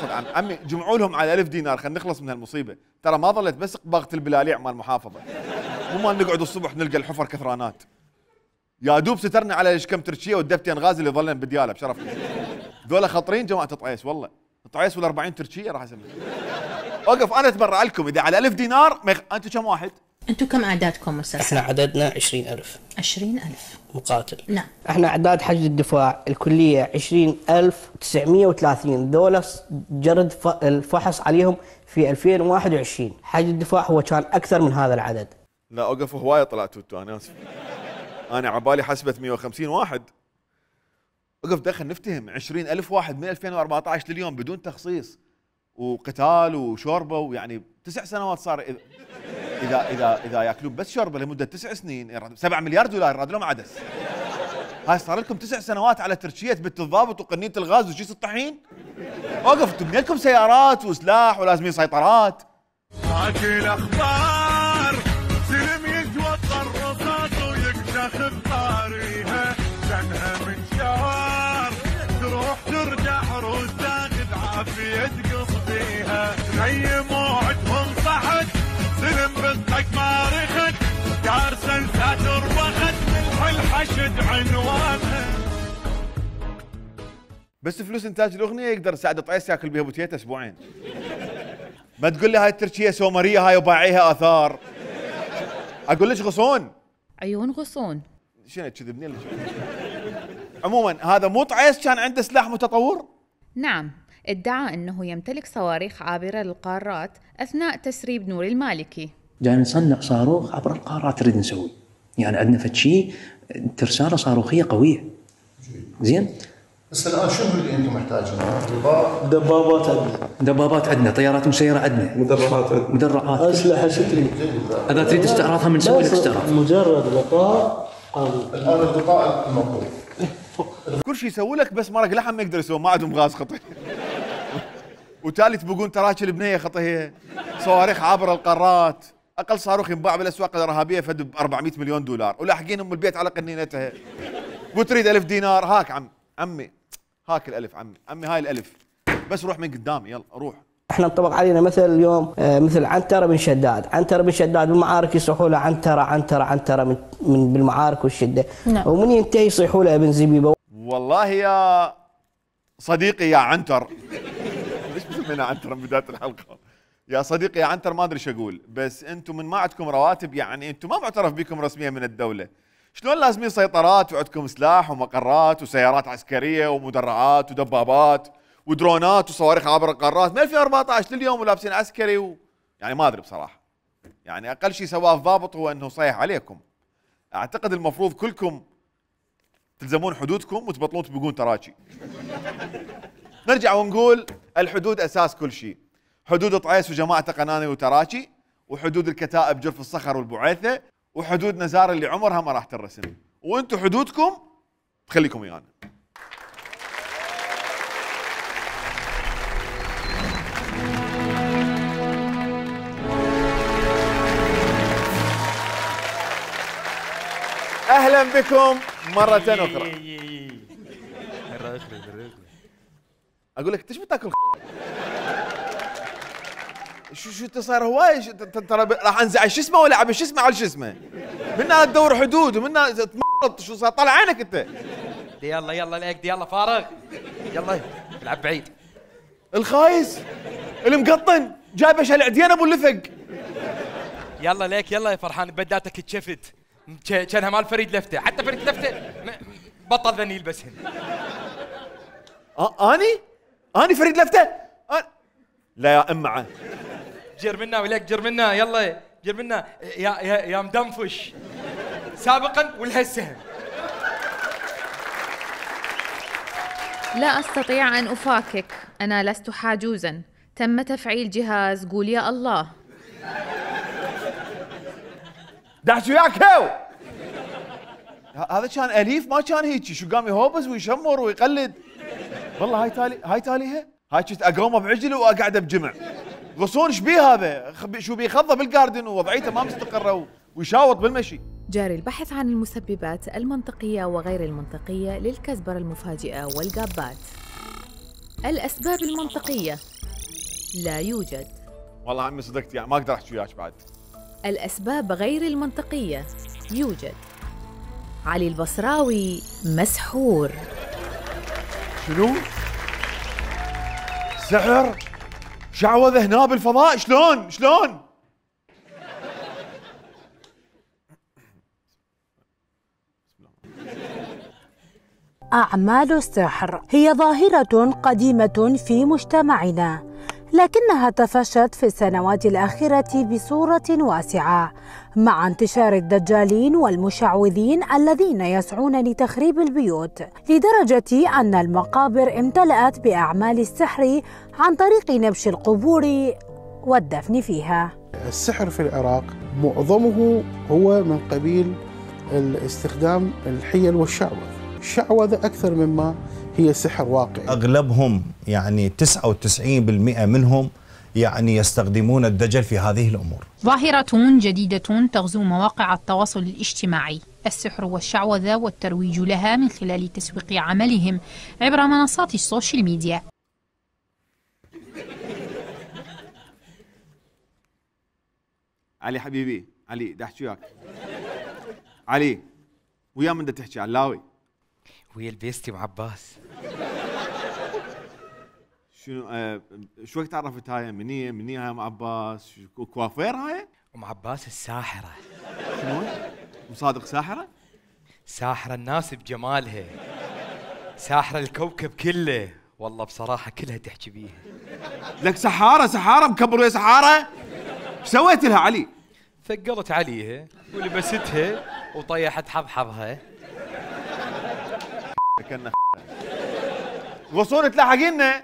خذ عم عمي جمعوا لهم على ألف دينار خلينا نخلص من هالمصيبه، ترى ما ظلت بس قباغه البلاليع مال المحافظه، مو ما نقعد الصبح نلقى الحفر كثرانات. يا دوب سترنا على كم تركيه والدفتين غازي اللي ظلنا بدياله بشرفنا. ذولا خطرين جماعه طعيس والله، طعيس ولا أربعين تركيه راح اسمي. اوقف انا اتبرع لكم اذا على ألف دينار ميخ... انتم كم واحد؟ انتم كم اعدادكم استاذ؟ احنا عددنا عشرين ألف. عشرين ألف مقاتل. نعم. احنا اعداد حشد الدفاع الكليه عشرين ألف وتسعمئة وثلاثين، ذولا جرد الفحص عليهم في ألفين وواحد وعشرين، حشد الدفاع هو كان اكثر من هذا العدد. لا اوقف هوايه طلعتوا انتوا انا اسف. انا عبالي حسبت مئة وخمسين واحد. وقف دخل نفتهم عشرين ألف واحد من ألفين وأربعة عشر لليوم بدون تخصيص وقتال وشوربه، ويعني تسع سنوات صار اذا اذا اذا, إذا ياكلون بس شوربه لمده تسع سنين سبعة مليار دولار راد لهم عدس. هاي صار لكم تسع سنوات على ترشيه بنت الضابط وقنينه الغاز وشيس الطحين. وقف تبني لكم سيارات وسلاح ولازمين سيطرات. هاك الاخبار سلم يتوطى الرصاص ويكتخ بطاريها كانها من شهر تروح ترجع روس تاخذ عافيه قصديها زي موعدهم صحت سلم بنتك ما رخت كارثه ساتر وخت ملح الحشد عنوانها. بس فلوس انتاج الاغنيه يقدر سعد طعيس ياكل بها بوتيتا اسبوعين. ما تقول لي هاي التركيه سومريه هاي وباعيها اثار. اقول لك غصون. عيون غصون. شنو تكذبني لك؟ عموما هذا مو طعيس كان عنده سلاح متطور؟ نعم، ادعى انه يمتلك صواريخ عابره للقارات اثناء تسريب نور المالكي. جاي نصنع صاروخ عبر القارات نريد نسوي، يعني عندنا فد شيء ترساله صاروخيه قويه. زين؟ بس الان شنو اللي انتم محتاجينه؟ دبابات عندنا، دبابات عندنا، طيارات مسيره عندنا، مدرعات عندنا، مدرعات، اسلحه شو تريد؟ اذا تريد استعراضها من نسوي لك استعراض. مجرد لقاء الان اللقاء المطلوب. كل شيء يسوي لك بس مرق لحم ما يقدر يسوي، ما عندهم غاز خطي. وتالي تبقون تراكي البنيه خطيه، صواريخ عابره القارات، اقل صاروخ ينباع بالاسواق الارهابيه فد ب أربعمئة مليون دولار، ولاحقين ام البيت على قنينتها. وتريد ألف دينار، هاك عم عمي هاك الألف عمي، عمي هاي الألف بس روح من قدامي يلا روح. احنا انطبق علينا مثل اليوم آه مثل عنترة بن شداد، عنترة بن شداد بالمعارك يصيحوا له عنترة عنترة عنترة من, من بالمعارك والشدة. نعم. ومن ينتهي يصيحوا له ابن زبيبة. والله يا صديقي يا عنتر ليش مسمينا عنتر من بداية الحلقة؟ يا صديقي يا عنتر ما ادري ايش اقول، بس انتم من ما عندكم رواتب يعني انتم ما معترف بكم رسميا من الدولة. شلون لازمين سيطرات وعندكم سلاح ومقرات وسيارات عسكرية ومدرعات ودبابات ودرونات وصواريخ عبر القارات من ألفين وأربعة عشر لليوم ولابسين عسكري و... يعني ما ادري بصراحة. يعني اقل شيء سواه الضابط هو انه صيح عليكم. اعتقد المفروض كلكم تلزمون حدودكم وتبطلون تبقون تراكي. نرجع ونقول الحدود اساس كل شيء. حدود طعيس وجماعته قناني وتراكي، وحدود الكتائب جرف الصخر والبعيثة، وحدود نزار اللي عمرها ما راح ترسم، وانتم حدودكم تخليكم ويانا. اهلا بكم مرة اخرى. اقول لك انت ايش بتاكل؟ شو شو انت صاير هواي ترى راح انزعج شو اسمه ولا عبي شو اسمه على شو اسمه؟ منا تدور حدود ومنا تمرض شو صار طلع عينك انت. يلا يلا ليك يلا فارغ يلا العب بعيد. الخايس المقطن جايب ايش هالعديان ابو اللفق. يلا ليك يلا يا فرحان بداتك اتشفت كانها مال فريد لفته، حتى فريد لفته بطل ذني يلبسهن. آه اني؟ اني فريد لفته؟ أنا... لا يا امعه جر منا وليك جر منا يلا جر منا يا يا يا مدنفش سابقا والهسه. لا استطيع ان افاكك، انا لست حاجوزا، تم تفعيل جهاز قول يا الله. دعت وياك هو هذا كان اليف ما كان هيك شو قام يهوبز ويشمر ويقلد. والله هاي تالي هاي تاليها هاي كنت اقومه بعجل واقعده بجمع. غصون ايش بيه هذا؟ شو بيخضه بالجاردن ووضعيته ما مستقره ويشاوط بالمشي. جاري البحث عن المسببات المنطقية وغير المنطقية للكزبرة المفاجئة والقابات. الأسباب المنطقية لا يوجد. والله عمي صدقت يعني ما اقدر احكي وياك بعد. الأسباب غير المنطقية يوجد. علي البصراوي مسحور. شنو؟ سحر؟ شعوذة هنا بالفضاء شلون؟ شلون؟ أعمال السحر هي ظاهرة قديمة في مجتمعنا، لكنها تفشت في السنوات الأخيرة بصورة واسعة مع انتشار الدجالين والمشعوذين الذين يسعون لتخريب البيوت، لدرجة أن المقابر امتلأت بأعمال السحر عن طريق نبش القبور والدفن فيها. السحر في العراق معظمه هو من قبيل الاستخدام الحيل والشعوذة. الشعوذة أكثر مما هي سحر واقعي. أغلبهم يعني تسعة وتسعين بالمئة منهم يعني يستخدمون الدجل في هذه الأمور. ظاهرة جديدة تغزو مواقع التواصل الاجتماعي، السحر والشعوذة والترويج لها من خلال تسويق عملهم عبر منصات السوشيال ميديا. علي حبيبي، علي دا احكي وياك. علي ويا من دا تحكي علاوي؟ ويا البيستي وعباس. شنو آه شو وقت عرفت هاي؟ مني مني هاي ام عباس؟ كوافير هاي؟ ام عباس الساحرة. شنو؟ مصادق ساحرة؟ ساحرة الناس بجمالها، ساحرة الكوكب كله، والله بصراحة كلها تحكي بيها. لك سحارة سحارة مكبر ويا سحارة؟ ايش سويت لها علي؟ ثقلت عليها ولبستها وطيحت حبحبها. كنا غصون تلاحقينا.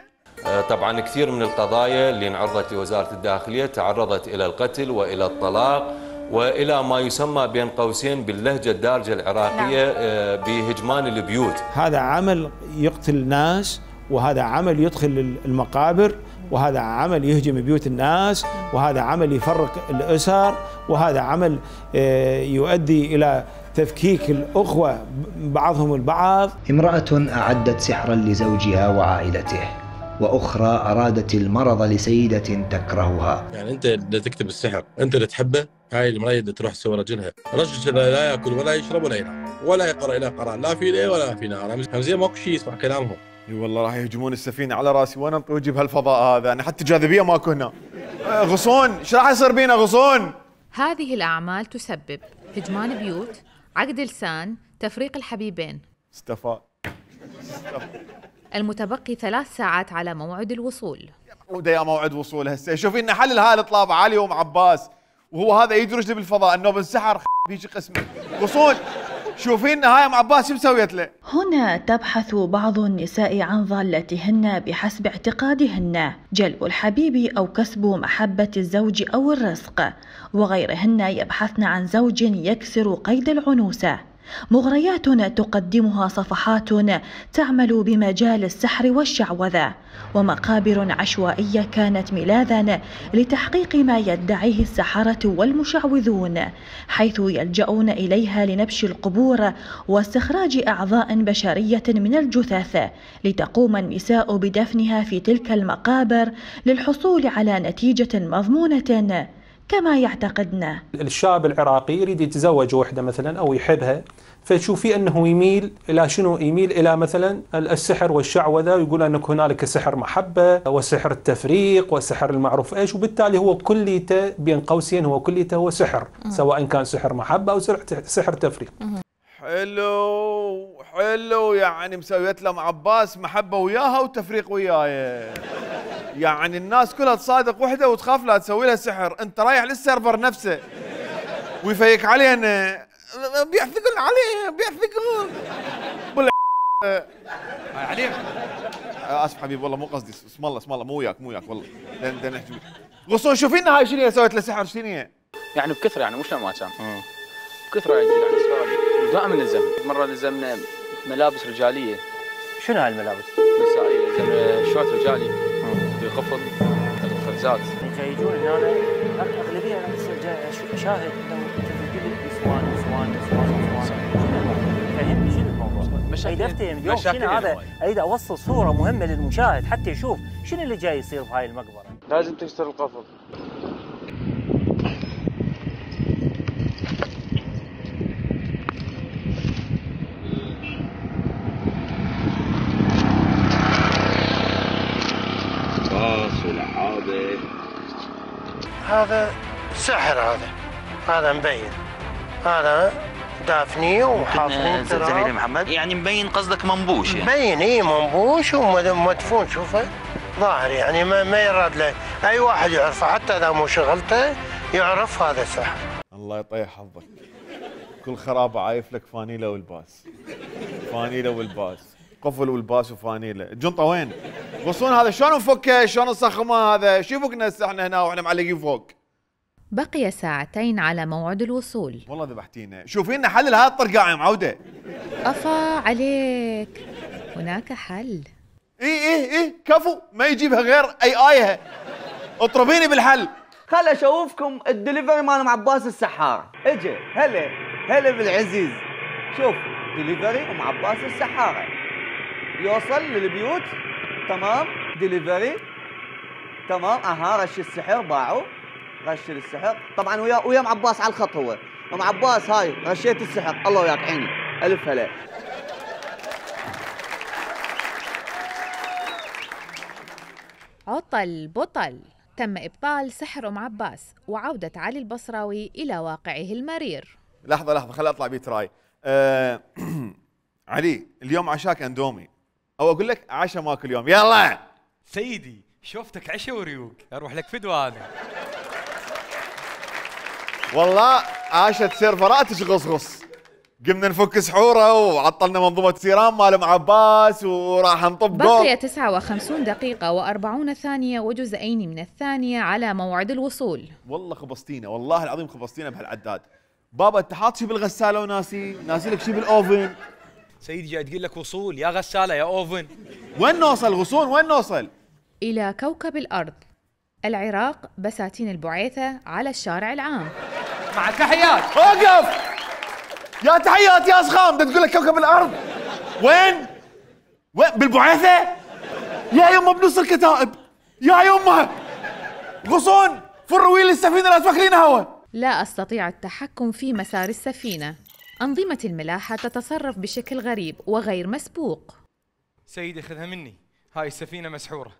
طبعا كثير من القضايا اللي انعرضت لوزارة الداخلية تعرضت إلى القتل وإلى الطلاق وإلى ما يسمى بين قوسين باللهجة الدارجة العراقية بهجمان البيوت. هذا عمل يقتل ناس، وهذا عمل يدخل المقابر، وهذا عمل يهجم بيوت الناس، وهذا عمل يفرق الأسر، وهذا عمل يؤدي إلى تفكيك الأخوة بعضهم البعض. امرأة أعدت سحرا لزوجها وعائلته، وأخرى أرادت المرض لسيدة تكرهها. يعني أنت اللي تكتب السحر، أنت اللي تحبه، هاي المرأة اللي تروح تسوي رجلها، رجل لا يأكل ولا يشرب ولا ينام ولا يقرأ إلى قرآن، لا في ليل ولا في نهار، همزية ماكو شيء يسمع كلامهم. اي والله راح يهجمون السفينة على راسي وانا انطوي بهالفضاء هذا، انا حتى جاذبية ماكو هنا. غصون، ايش راح يصير بينا غصون؟ هذه الأعمال تسبب هجمان بيوت، عقد لسان، تفريق الحبيبين. استفاد. المتبقي ثلاث ساعات على موعد الوصول. وده يا موعد وصول هسه، شوفي لنا حل لهاي الطلاب علي وام عباس، وهو هذا يدرج لي بالفضاء انه بالسحر بيجي قسمه. غصون شوفي لنا هاي ام عباس شو مسويت له؟ هنا تبحث بعض النساء عن ضالتهن بحسب اعتقادهن، جلب الحبيب أو كسب محبة الزوج أو الرزق، وغيرهن يبحثن عن زوج يكسر قيد العنوسة. مغريات تقدمها صفحات تعمل بمجال السحر والشعوذة، ومقابر عشوائية كانت ملاذا لتحقيق ما يدعيه السحرة والمشعوذون، حيث يلجؤون إليها لنبش القبور واستخراج أعضاء بشرية من الجثث، لتقوم النساء بدفنها في تلك المقابر للحصول على نتيجة مضمونة كما يعتقدنا. الشاب العراقي يريد يتزوج وحده مثلا او يحبها، فتشوفي انه يميل الى شنو؟ يميل الى مثلا السحر والشعوذه، ويقول انك هنالك سحر محبه وسحر التفريق وسحر المعروف ايش، وبالتالي هو كليته بين قوسين هو كليته هو سحر، سواء كان سحر محبه او سحر تفريق. حلو حلو، يعني مسويت له عباس محبه وياها وتفريق وياي، يعني الناس كلها تصادق وحده وتخاف لا تسوي لها سحر، انت رايح للسيرفر نفسه ويفيك علينا، بيحثقون عليه بيحثقون بال هاي عليهم. اسف حبيبي والله مو قصدي، اسم الله اسم الله مو وياك مو وياك والله. بدنا نحكي غصون شوفي لنا هاي شنو سويت له سحر شنو هي؟ يعني بكثره، يعني مش ما كان بكثره يعني دائما نلزم، مره لزمنا ملابس رجاليه. شنو هاي الملابس؟ نسائيه لكن شوط رجالي بقفل الخبزات يجون هنا اغلبيه اشاهد انه اسوان اسوان اسوان فهمني شنو الموضوع؟ اريد افتهم اليوم شنو هذا، اريد اوصل صوره مهمه للمشاهد حتى يشوف شنو اللي جاي يصير بهاي المقبره. لازم تكسر القفل. باص ولعابه. هذا سحر، هذا هذا مبين، هذا دافنيه وحافرين تراب. زميلي محمد يعني مبين قصدك منبوش يعني. مبين اي منبوش ومدفون، شوفه ظاهر يعني ما, ما يراد له اي واحد يعرفه، حتى اذا مو شغلته يعرف هذا سحر. الله يطيح حظك، كل خرابه عايف لك فانيله والباس، فانيله والباس، قفل والباس وفانيله. الجنطه وين؟ غصون هذا شلون نفكه؟ شلون نصخمه هذا؟ شو يفكنا هسه احنا هنا واحنا معلقين فوق؟ بقي ساعتين على موعد الوصول. والله ذبحتينا، شوفي لنا حل لهذا الطرقاع يا معوده. افا عليك، هناك حل. اي اي اي كفو، ما يجيبها غير اي ايه. اطربيني بالحل. خل اشوفكم الدليفري مال ام عباس السحاره. اجي هلا هلا بالعزيز. شوف دليفري ام عباس السحاره يوصل للبيوت. تمام دليفري تمام. اها رش السحر باعوا، رش السحر طبعا ويا ويا ام عباس على الخط. هو ام عباس هاي رشيت السحر، الله وياك عيني الف هلا. عطل بطل، تم ابطال سحر ام عباس وعوده علي البصراوي الى واقعه المرير. لحظه لحظه خليني اطلع بيت راي. أه علي اليوم عشاك اندومي، او اقول لك عشاء ماكل اليوم. يلا سيدي شوفتك عشاء وريوق، اروح لك فدوه انا. والله عاشت سيرفرات تغصغص، قمنا نفك سحوره وعطلنا منظومه سيران مال ام عباس وراح نطب جول. بقي تسعة وخمسين دقيقة وأربعون ثانية وجزئين من الثانية على موعد الوصول. والله خبصتينا، والله العظيم خبصتينا بهالعداد. بابا انت حاط شي بالغساله وناسي، ناسي لك شي بالاوفن. سيدي جاي تقول لك وصول، يا غساله يا اوفن. وين نوصل غصون؟ وين نوصل؟ إلى كوكب الأرض، العراق، بساتين البعيثة على الشارع العام. مع تحيات. اوقف يا تحيات يا اسخام، بدك تقول لك كوكب الارض. وين؟ وين بالبعيثه؟ يا يمه بنص الكتائب، يا يمه غصون فروا ويل السفينه لا تفكرين هوا. لا أستطيع التحكم في مسار السفينة، أنظمة الملاحة تتصرف بشكل غريب وغير مسبوق. سيدي خذها مني، هاي السفينة مسحورة.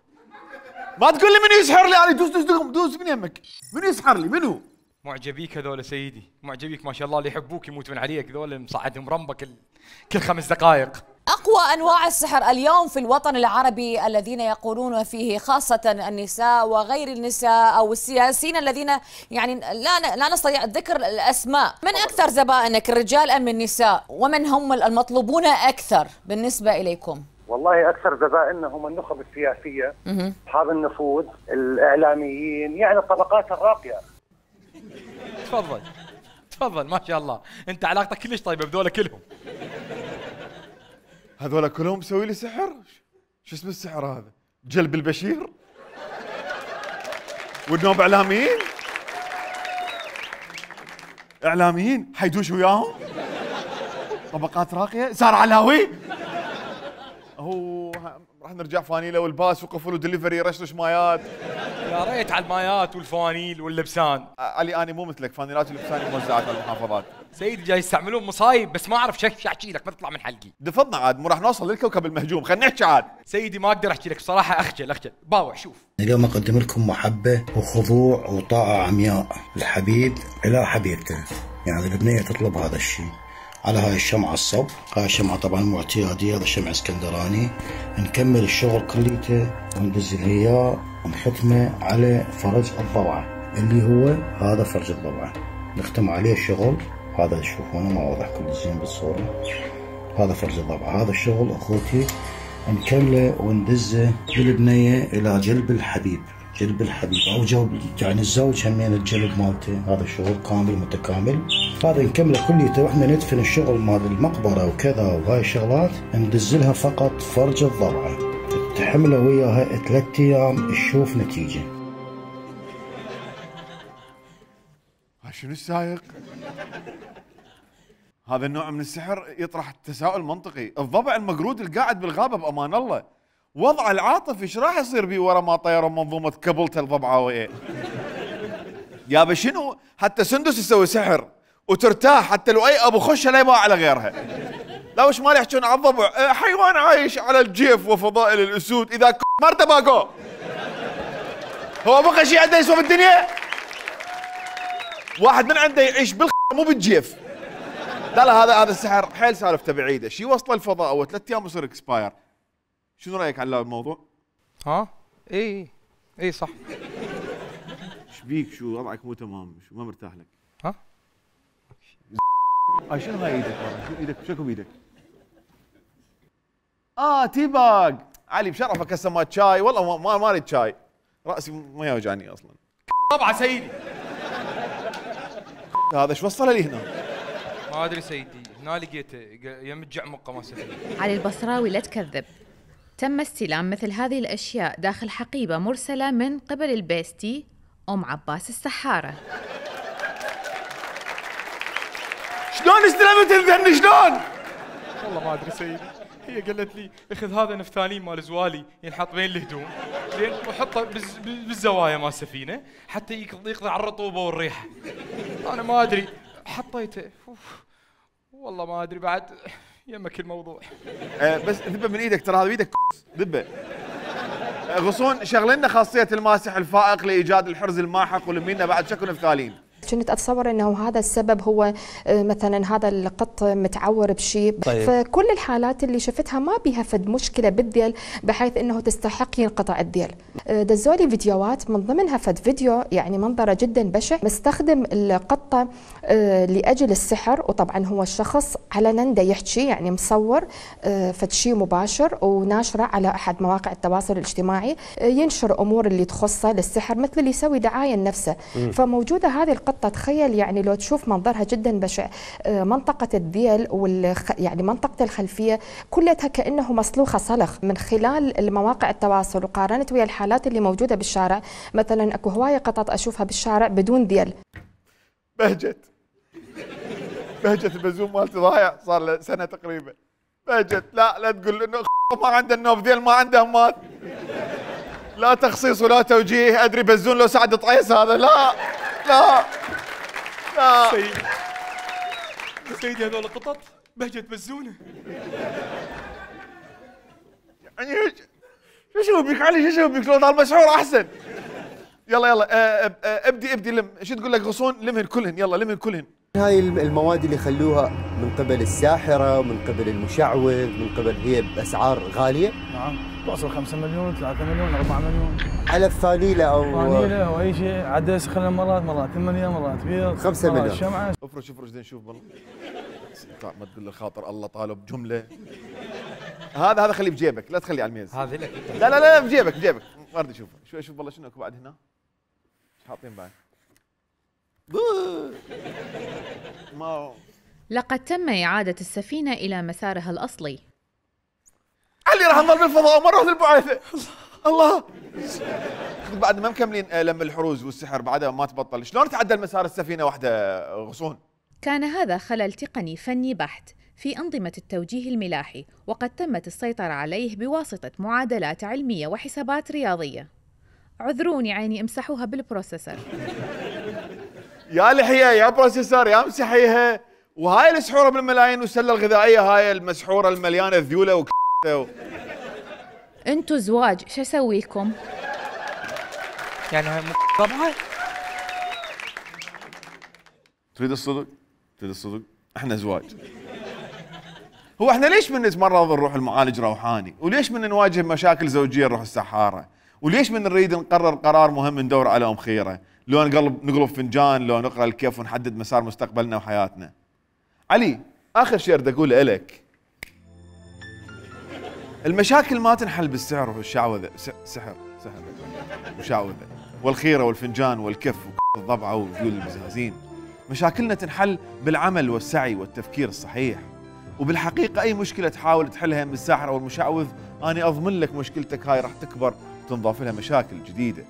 ما تقول لي منو يسحر لي انا؟ دوس دوس دوس من يمك. منو يسحر لي؟ منو؟ معجبيك هذول سيدي، معجبيك ما شاء الله، اللي يحبوك يموت من عليك، ذول مصعدهم رمبة كل كل خمس دقائق. أقوى أنواع السحر اليوم في الوطن العربي الذين يقولون فيه خاصة النساء وغير النساء أو السياسيين الذين يعني لا لا نستطيع ذكر الأسماء. من أكثر زبائنك الرجال أم النساء؟ ومن هم المطلوبون أكثر بالنسبة إليكم؟ والله اكثر زبائننا هم النخب السياسيه، اصحاب النفوذ، الاعلاميين، يعني الطبقات الراقيه. تفضل تفضل ما شاء الله، انت علاقتك كلش طيبه بذولا كلهم. هذولا كلهم مسوي لي سحر؟ شو اسم السحر هذا؟ جلب البشير؟ والنوب اعلاميين؟ اعلاميين حيدوش وياهم؟ طبقات راقيه؟ سار علاوي؟ هو راح نرجع فانيله والباس وقفل ودليفري رشرش مايات. يا ريت على المايات والفوانيل واللبسان. علي انا مو مثلك، فانيلات واللبسان موزعات على المحافظات. سيدي جاي يستعملون مصايب، بس ما اعرف شو احكي لك، ما تطلع من حلقي. دفضنا عاد، مو راح نوصل للكوكب المهجوم، خلينا نحكي عاد. سيدي ما اقدر احكي لك بصراحه، اخجل اخجل. باوع شوف. اليوم اقدم لكم محبه وخضوع وطاعه عمياء، الحبيب الى حبيبته، يعني البنيه تطلب هذا الشيء. على هاي الشمعة الصب، هاي الشمعة طبعا مو اعتيادية، هذا شمع اسكندراني. نكمل الشغل كليته وندز الهياء ونختمه على فرج الضبعة اللي هو هذا فرج الضبعة، نختم عليه الشغل. هذا شوفوا انا ما واضح كل زين بالصورة، هذا فرج الضبعة. هذا الشغل اخوتي نكمله وندزه بالبنية الى جلب الحبيب، جلب الحبيب او جلب يعني الزوج همين الجلب مالته. هذا الشغل كامل متكامل، هذا نكمله كليته واحنا ندفن الشغل مال المقبره وكذا وهاي الشغلات ندزلها فقط فرج الضبعه. تحمله وياها ثلاث ايام تشوف نتيجه. شنو السايق؟ هذا النوع من السحر يطرح تساؤل منطقي، الضبع المقرود القاعد بالغابه بامان الله وضعه العاطفي ايش راح يصير بيه ورا ما طيروا منظومه كبلته الضبعاويه؟ يابا شنو؟ حتى سندس تسوي سحر وترتاح حتى لو اي ابو خشه لا يباع على غيرها. لا وش مال يحجون على الضبع؟ حيوان عايش على الجيف وفضائل الاسود، اذا مرته باقو هو بقى شيء عنده يسوى بالدنيا؟ واحد من عنده يعيش بالخ مو بالجيف. لا لا هذا هذا السحر حيل سالفته بعيده، شي وصله الفضاء اول ثلاث ايام يصير اكسباير. شنو رايك على الموضوع؟ ها؟ اي اي صح. ايش بيك؟ شو وضعك مو تمام؟ شو ما مرتاح لك؟ ها؟ هاي شنو هاي ايدك؟ شو ايدك؟ شكو بيدك؟ اه تي باج علي بشرفك هسه ما شاي والله ما ما اريد شاي راسي ما يوجعني اصلا. طبعا سيدي. هذا ايش وصله لي هنا؟ ما ادري سيدي، هنا لقيته يم الجعمقه ما سفينه. علي البصراوي لا تكذب، تم استلام مثل هذه الاشياء داخل حقيبه مرسله من قبل البيستي ام عباس السحاره. شلون استلمت الذن شلون؟ والله ما ادري سيدي، هي قالت لي اخذ هذا نفتالين مال زوالي ينحط بين الهدوم زين وحطه بالزوايا مال السفينه حتى يقضي على الرطوبه والريحه. انا ما ادري حطيته أوف. والله ما ادري بعد يمك الموضوع. أه بس ذبه من ايدك ترى هذا بيدك ذبه. أه غصون شغل لنا خاصيه الماسح الفائق لايجاد الحرز الماحق ولمينا بعد شكو نفتالين. كنت اتصور انه هذا السبب هو مثلا هذا القط متعور بشيء. طيب. فكل الحالات اللي شفتها ما بيها فد مشكله بالذيل بحيث انه تستحق ينقطع الذيل. دزولي فيديوهات من ضمنها فد فيديو يعني منظره جدا بشع مستخدم القطه لاجل السحر، وطبعا هو الشخص علنا دا يحكي يعني مصور فد شيء مباشر وناشره على احد مواقع التواصل الاجتماعي ينشر امور اللي تخصه للسحر مثل اللي يسوي دعايه لنفسه. فموجوده هذه القطه تخيل يعني لو تشوف منظرها جدا بشع، منطقة الذيل والخ... يعني منطقة الخلفية كلها كأنه مسلوخة صلخ. من خلال المواقع التواصل وقارنت ويا الحالات اللي موجودة بالشارع، مثلا اكو هواية قطط اشوفها بالشارع بدون ذيل. بهجت بهجت البزوم مالتي ضايع صار له سنة تقريبا. بهجت لا لا تقول انه ما عنده النوب ذيل ما عنده همات. لا تخصيص ولا توجيه، ادري بزون لو سعد طعيس هذا. لا لا لا سيدي سيدي هذول القطط بهجة بزونه. يعني شو شو بيك علي؟ شو شو بيك؟ لو ضل مسحور احسن. يلا يلا اه اه ابدي ابدي لم. شو تقول لك غصون؟ لمهن كلهن يلا لمهن كلهن. هاي المواد اللي خلوها من قبل الساحرة ومن قبل المشعوذ من قبل هي بأسعار غالية. نعم توصل خمسة مليون ثلاثة مليون أربعة مليون على الفانيلة أو فانيلة أو أي شيء عدس خلال مرات مرات ثمانية مرات بيض خمسة مليون. شمعة افرش افرش زين شوف بالله ما تقول لي خاطر الله طالب جملة. هذا هذا خليه بجيبك لا تخليه على الميز. هذه لك لا لا لا بجيبك بجيبك ما اريد اشوفه. شوف شوف والله شنو اكو بعد هنا؟ ايش حاطين بعد؟ ما لقد تم إعادة السفينة إلى مسارها الأصلي. علي راح نضل بالفضاء مرة مثل البعاثة. الله بعد ما مكملين لم الحروز والسحر بعدها ما تبطل. شلون تعدل مسار السفينة واحدة غصون؟ كان هذا خلل تقني فني بحت في أنظمة التوجيه الملاحي، وقد تمت السيطرة عليه بواسطة معادلات علمية وحسابات رياضية. عذروني عيني امسحوها بالبروسيسور. يا لحية يا بروسيسور يا امسحيها. وهاي السحورة بالملايين والسلة الغذائية هاي المسحورة المليانة ذيولة وك و... انتو زواج شو اسوي لكم؟ يعني هاي طبعا تريد الصدق؟ تريد الصدق؟ احنا زواج. هو احنا ليش من نتمرض نروح المعالج روحاني؟ وليش من نواجه مشاكل زوجية نروح السحارة؟ وليش من نريد نقرر قرار مهم ندور على ام خيرة؟ لو نقلب نقلب فنجان، لو نقرا الكيف ونحدد مسار مستقبلنا وحياتنا. علي اخر شيء اريد اقوله لك، المشاكل ما تنحل بالسحر والشعوذة. سحر سحر وشعوذة والخيرة والفنجان والكف والضبعة وذيول البزازين. مشاكلنا تنحل بالعمل والسعي والتفكير الصحيح وبالحقيقه اي مشكله تحاول تحلها من الساحر او المشعوذ انا اضمن لك مشكلتك هاي راح تكبر وتنضاف لها مشاكل جديده.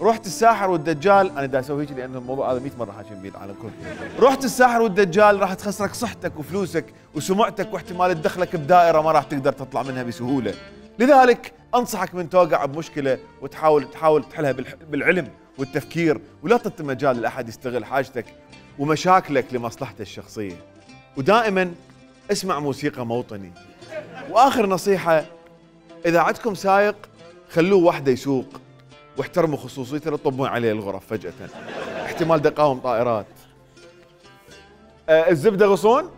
رحت الساحر والدجال، انا دا اسوي هيك لان الموضوع هذا مئة مره حاكين بيه العالم كله. رحت الساحر والدجال راح تخسرك صحتك وفلوسك وسمعتك واحتمال تدخلك بدائره ما راح تقدر تطلع منها بسهوله. لذلك انصحك من توقع بمشكله وتحاول تحاول تحلها بالعلم والتفكير، ولا تعطي مجال لاحد يستغل حاجتك ومشاكلك لمصلحته الشخصيه. ودائما اسمع موسيقى موطني. واخر نصيحه، اذا عندكم سايق خلوه وحده يسوق واحترموا خصوصيته، لا تطبون عليه الغرف فجاه، احتمال دقاوم طائرات. أه الزبده غصون.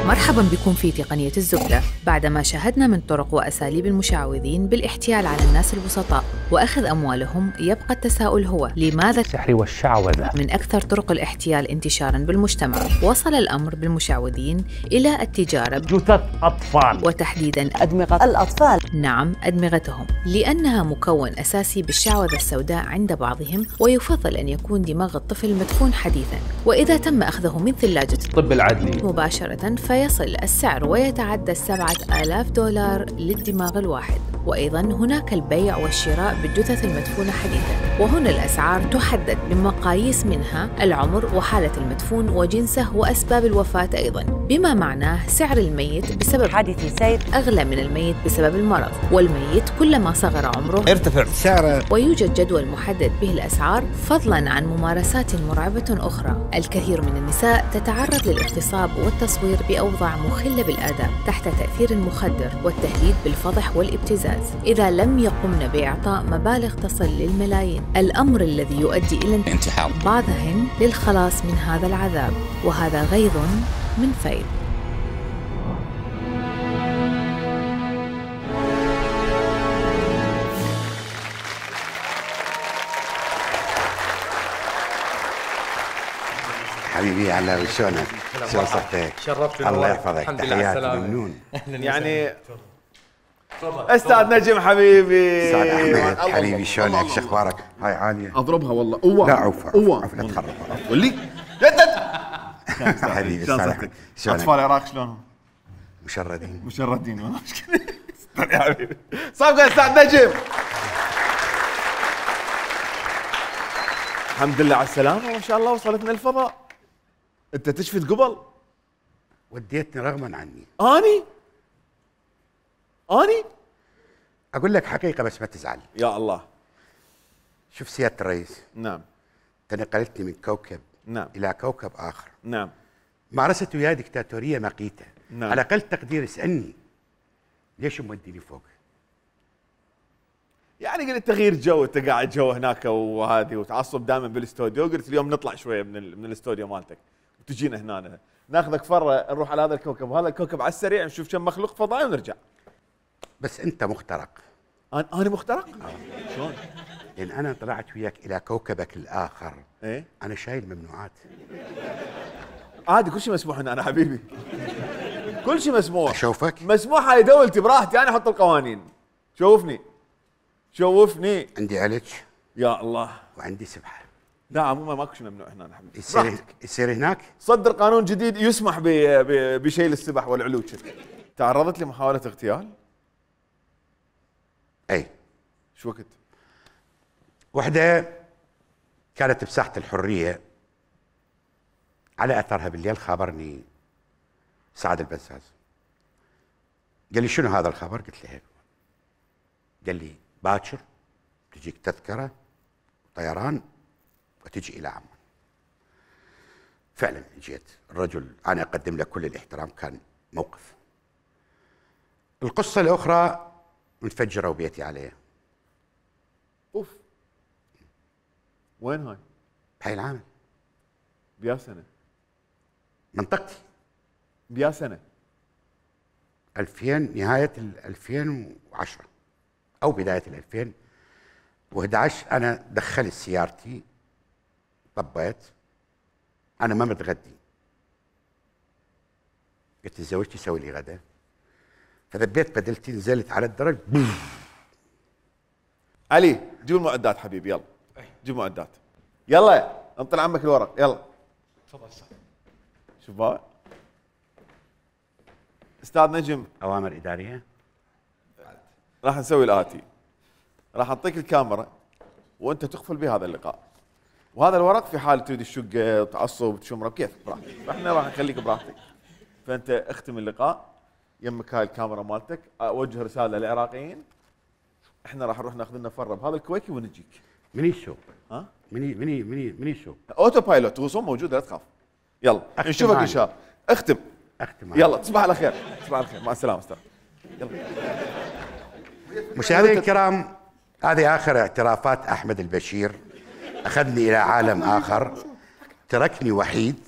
مرحبا بكم في تقنية الزبدة. بعدما شاهدنا من طرق وأساليب المشعوذين بالاحتيال على الناس البسطاء وأخذ أموالهم، يبقى التساؤل هو لماذا السحر والشعوذة من أكثر طرق الاحتيال انتشارا بالمجتمع؟ وصل الأمر بالمشعوذين إلى التجارة بجثث أطفال، وتحديدا أدمغة الأطفال. نعم، أدمغتهم، لأنها مكون أساسي بالشعوذة السوداء عند بعضهم، ويفضل أن يكون دماغ الطفل مدفون حديثا، وإذا تم أخذه من ثلاجة الطب العدلي مباشرة فيصل السعر ويتعدى سبعة آلاف دولار للدماغ الواحد. وأيضا هناك البيع والشراء بالجثث المدفونة حديثا، وهنا الأسعار تحدد بمقاييس منها العمر وحالة المدفون وجنسه وأسباب الوفاة أيضا، بما معناه سعر الميت بسبب حادث سير أغلى من الميت بسبب المرض، والميت كلما صغر عمره ارتفع سعره. ويوجد جدول محدد به الأسعار، فضلا عن ممارسات مرعبة أخرى. الكثير من النساء تتعرض للاغتصاب والتصوير بأوضاع مخلة بالآداب تحت تأثير المخدر والتهديد بالفضح والابتزاز إذا لم يقمن بإعطاء مبالغ تصل للملايين، الأمر الذي يؤدي إلى انتحار بعضهن للخلاص من هذا العذاب، وهذا غيظ من فيض. حبيبي على شلونك؟ شلون صحتك؟ شرفتنا الله يحفظك. تحياتي ممنون. يعني استاذ نجم حبيبي. استاذ احمد حبيبي شلونك؟ شو اخبارك؟ هاي عاليه. اضربها والله. اوه لا عوف عوف لا تخرب. ولي حبيبي شلونك؟ اطفال العراق شلونهم؟ مشردين مشردين والله مشكله. يا حبيبي صفقه استاذ نجم. الحمد لله على السلامه، ما شاء الله وصلتنا الفضاء. انت تشفت قبل؟ وديتني رغما عني. اني؟ اني؟ اقول لك حقيقه بس ما تزعل. يا الله. شوف سياده الرئيس. نعم. تنقلتني من كوكب نعم الى كوكب اخر. نعم. مارست وياي دكتاتوريه مقيته. نعم. على اقل تقدير اسالني ليش موديني فوق؟ يعني قلت تغيير جو، انت قاعد جو هناك وهذه وتعصب دائما بالاستوديو، قلت اليوم نطلع شويه من من الاستوديو مالتك وتجينا هنا ناخذك فره نروح على هذا الكوكب وهذا الكوكب على السريع نشوف كم مخلوق فضائي ونرجع. بس انت مخترق. انا انا مخترق؟ آه. شلون؟ لان انا طلعت وياك الى كوكبك الاخر. ايه؟ انا شايل ممنوعات. عادي كل شيء مسموح هنا انا حبيبي. كل شيء مسموح. اشوفك؟ مسموح هاي دولتي براحتي، انا احط القوانين. شوفني. شوفني. عندي علج. يا الله. وعندي سبحه. لا عموما ماكو شيء ممنوع هنا حبيبي. يصير يصير هناك؟ صدر قانون جديد يسمح بشيل السبح والعلوج. تعرضت لمحاولة اغتيال؟ اي. شو وقت؟ وحده كانت بساحة الحرية، على اثرها بالليل خابرني سعد البزاز. قال لي شنو هذا الخبر؟ قلت له هيك. قال لي باكر تجيك تذكرة طيران وتجي إلى عمان. فعلا جيت. الرجل أنا أقدم له كل الاحترام، كان موقف. القصة الأخرى انفجروا بيتي عليه. أوف. وين هاي؟ بهاي العام. بيا سنة؟ منطقتي. بيا سنة؟ ألفين، نهاية ال ألفين وعشرة أو بداية ال ألفين وأحد عشر. أنا دخلت سيارتي، طبيت، أنا ما متغدي. قلت لزوجتي سوي لي غدا، فذبيت بدلتي، نزلت على الدرج. علي جيب المعدات حبيبي، يلا جيب معدات. يلا انطل عمك الورق يلا. تفضل استاذ. شوف بابا. استاذ نجم. اوامر اداريه. راح نسوي الاتي. راح اعطيك الكاميرا وانت تقفل بهذا اللقاء. وهذا الورق في حال تريد تشقه تعصب تشمره كيف براحتك، احنا راح نخليك براحتك. فانت اختم اللقاء يمك هاي الكاميرا مالتك، اوجه رساله للعراقيين. احنا راح نروح ناخذ لنا فره بهذا الكويكي ونجيك. مني الشو؟ ها؟ مني مني مني مني الشو؟ اوتو بايلوت رسوم موجوده لا تخاف. يلا نشوفك ان شاء الله. اختم. اختم. يلا تصبح على خير، تصبح على خير، مع السلامه استاذ. يلا. مشاهدينا الكرام، هذه اخر اعترافات احمد البشير. اخذني الى عالم اخر، تركني وحيد.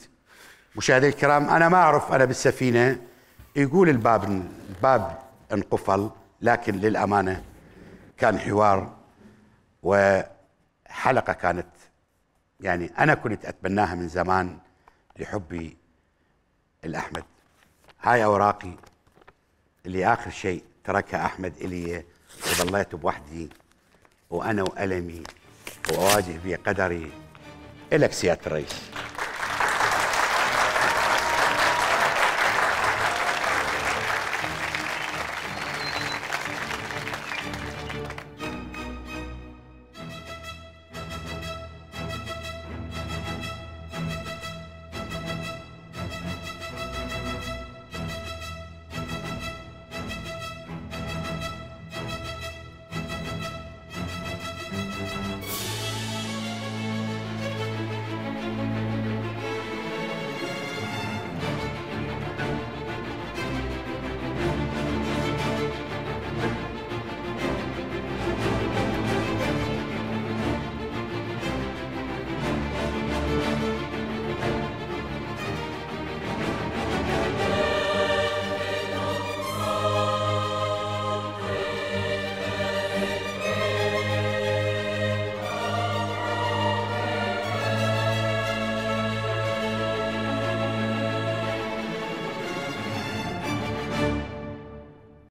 مشاهدينا الكرام، انا ما اعرف، انا بالسفينه يقول الباب الباب انقفل، لكن للامانه كان حوار وحلقه كانت يعني انا كنت اتبناها من زمان لحبي الاحمد. هاي اوراقي اللي اخر شيء تركها احمد الي، وظليت بوحدي وانا والمي واواجه بقدري. الك سياده الرئيس.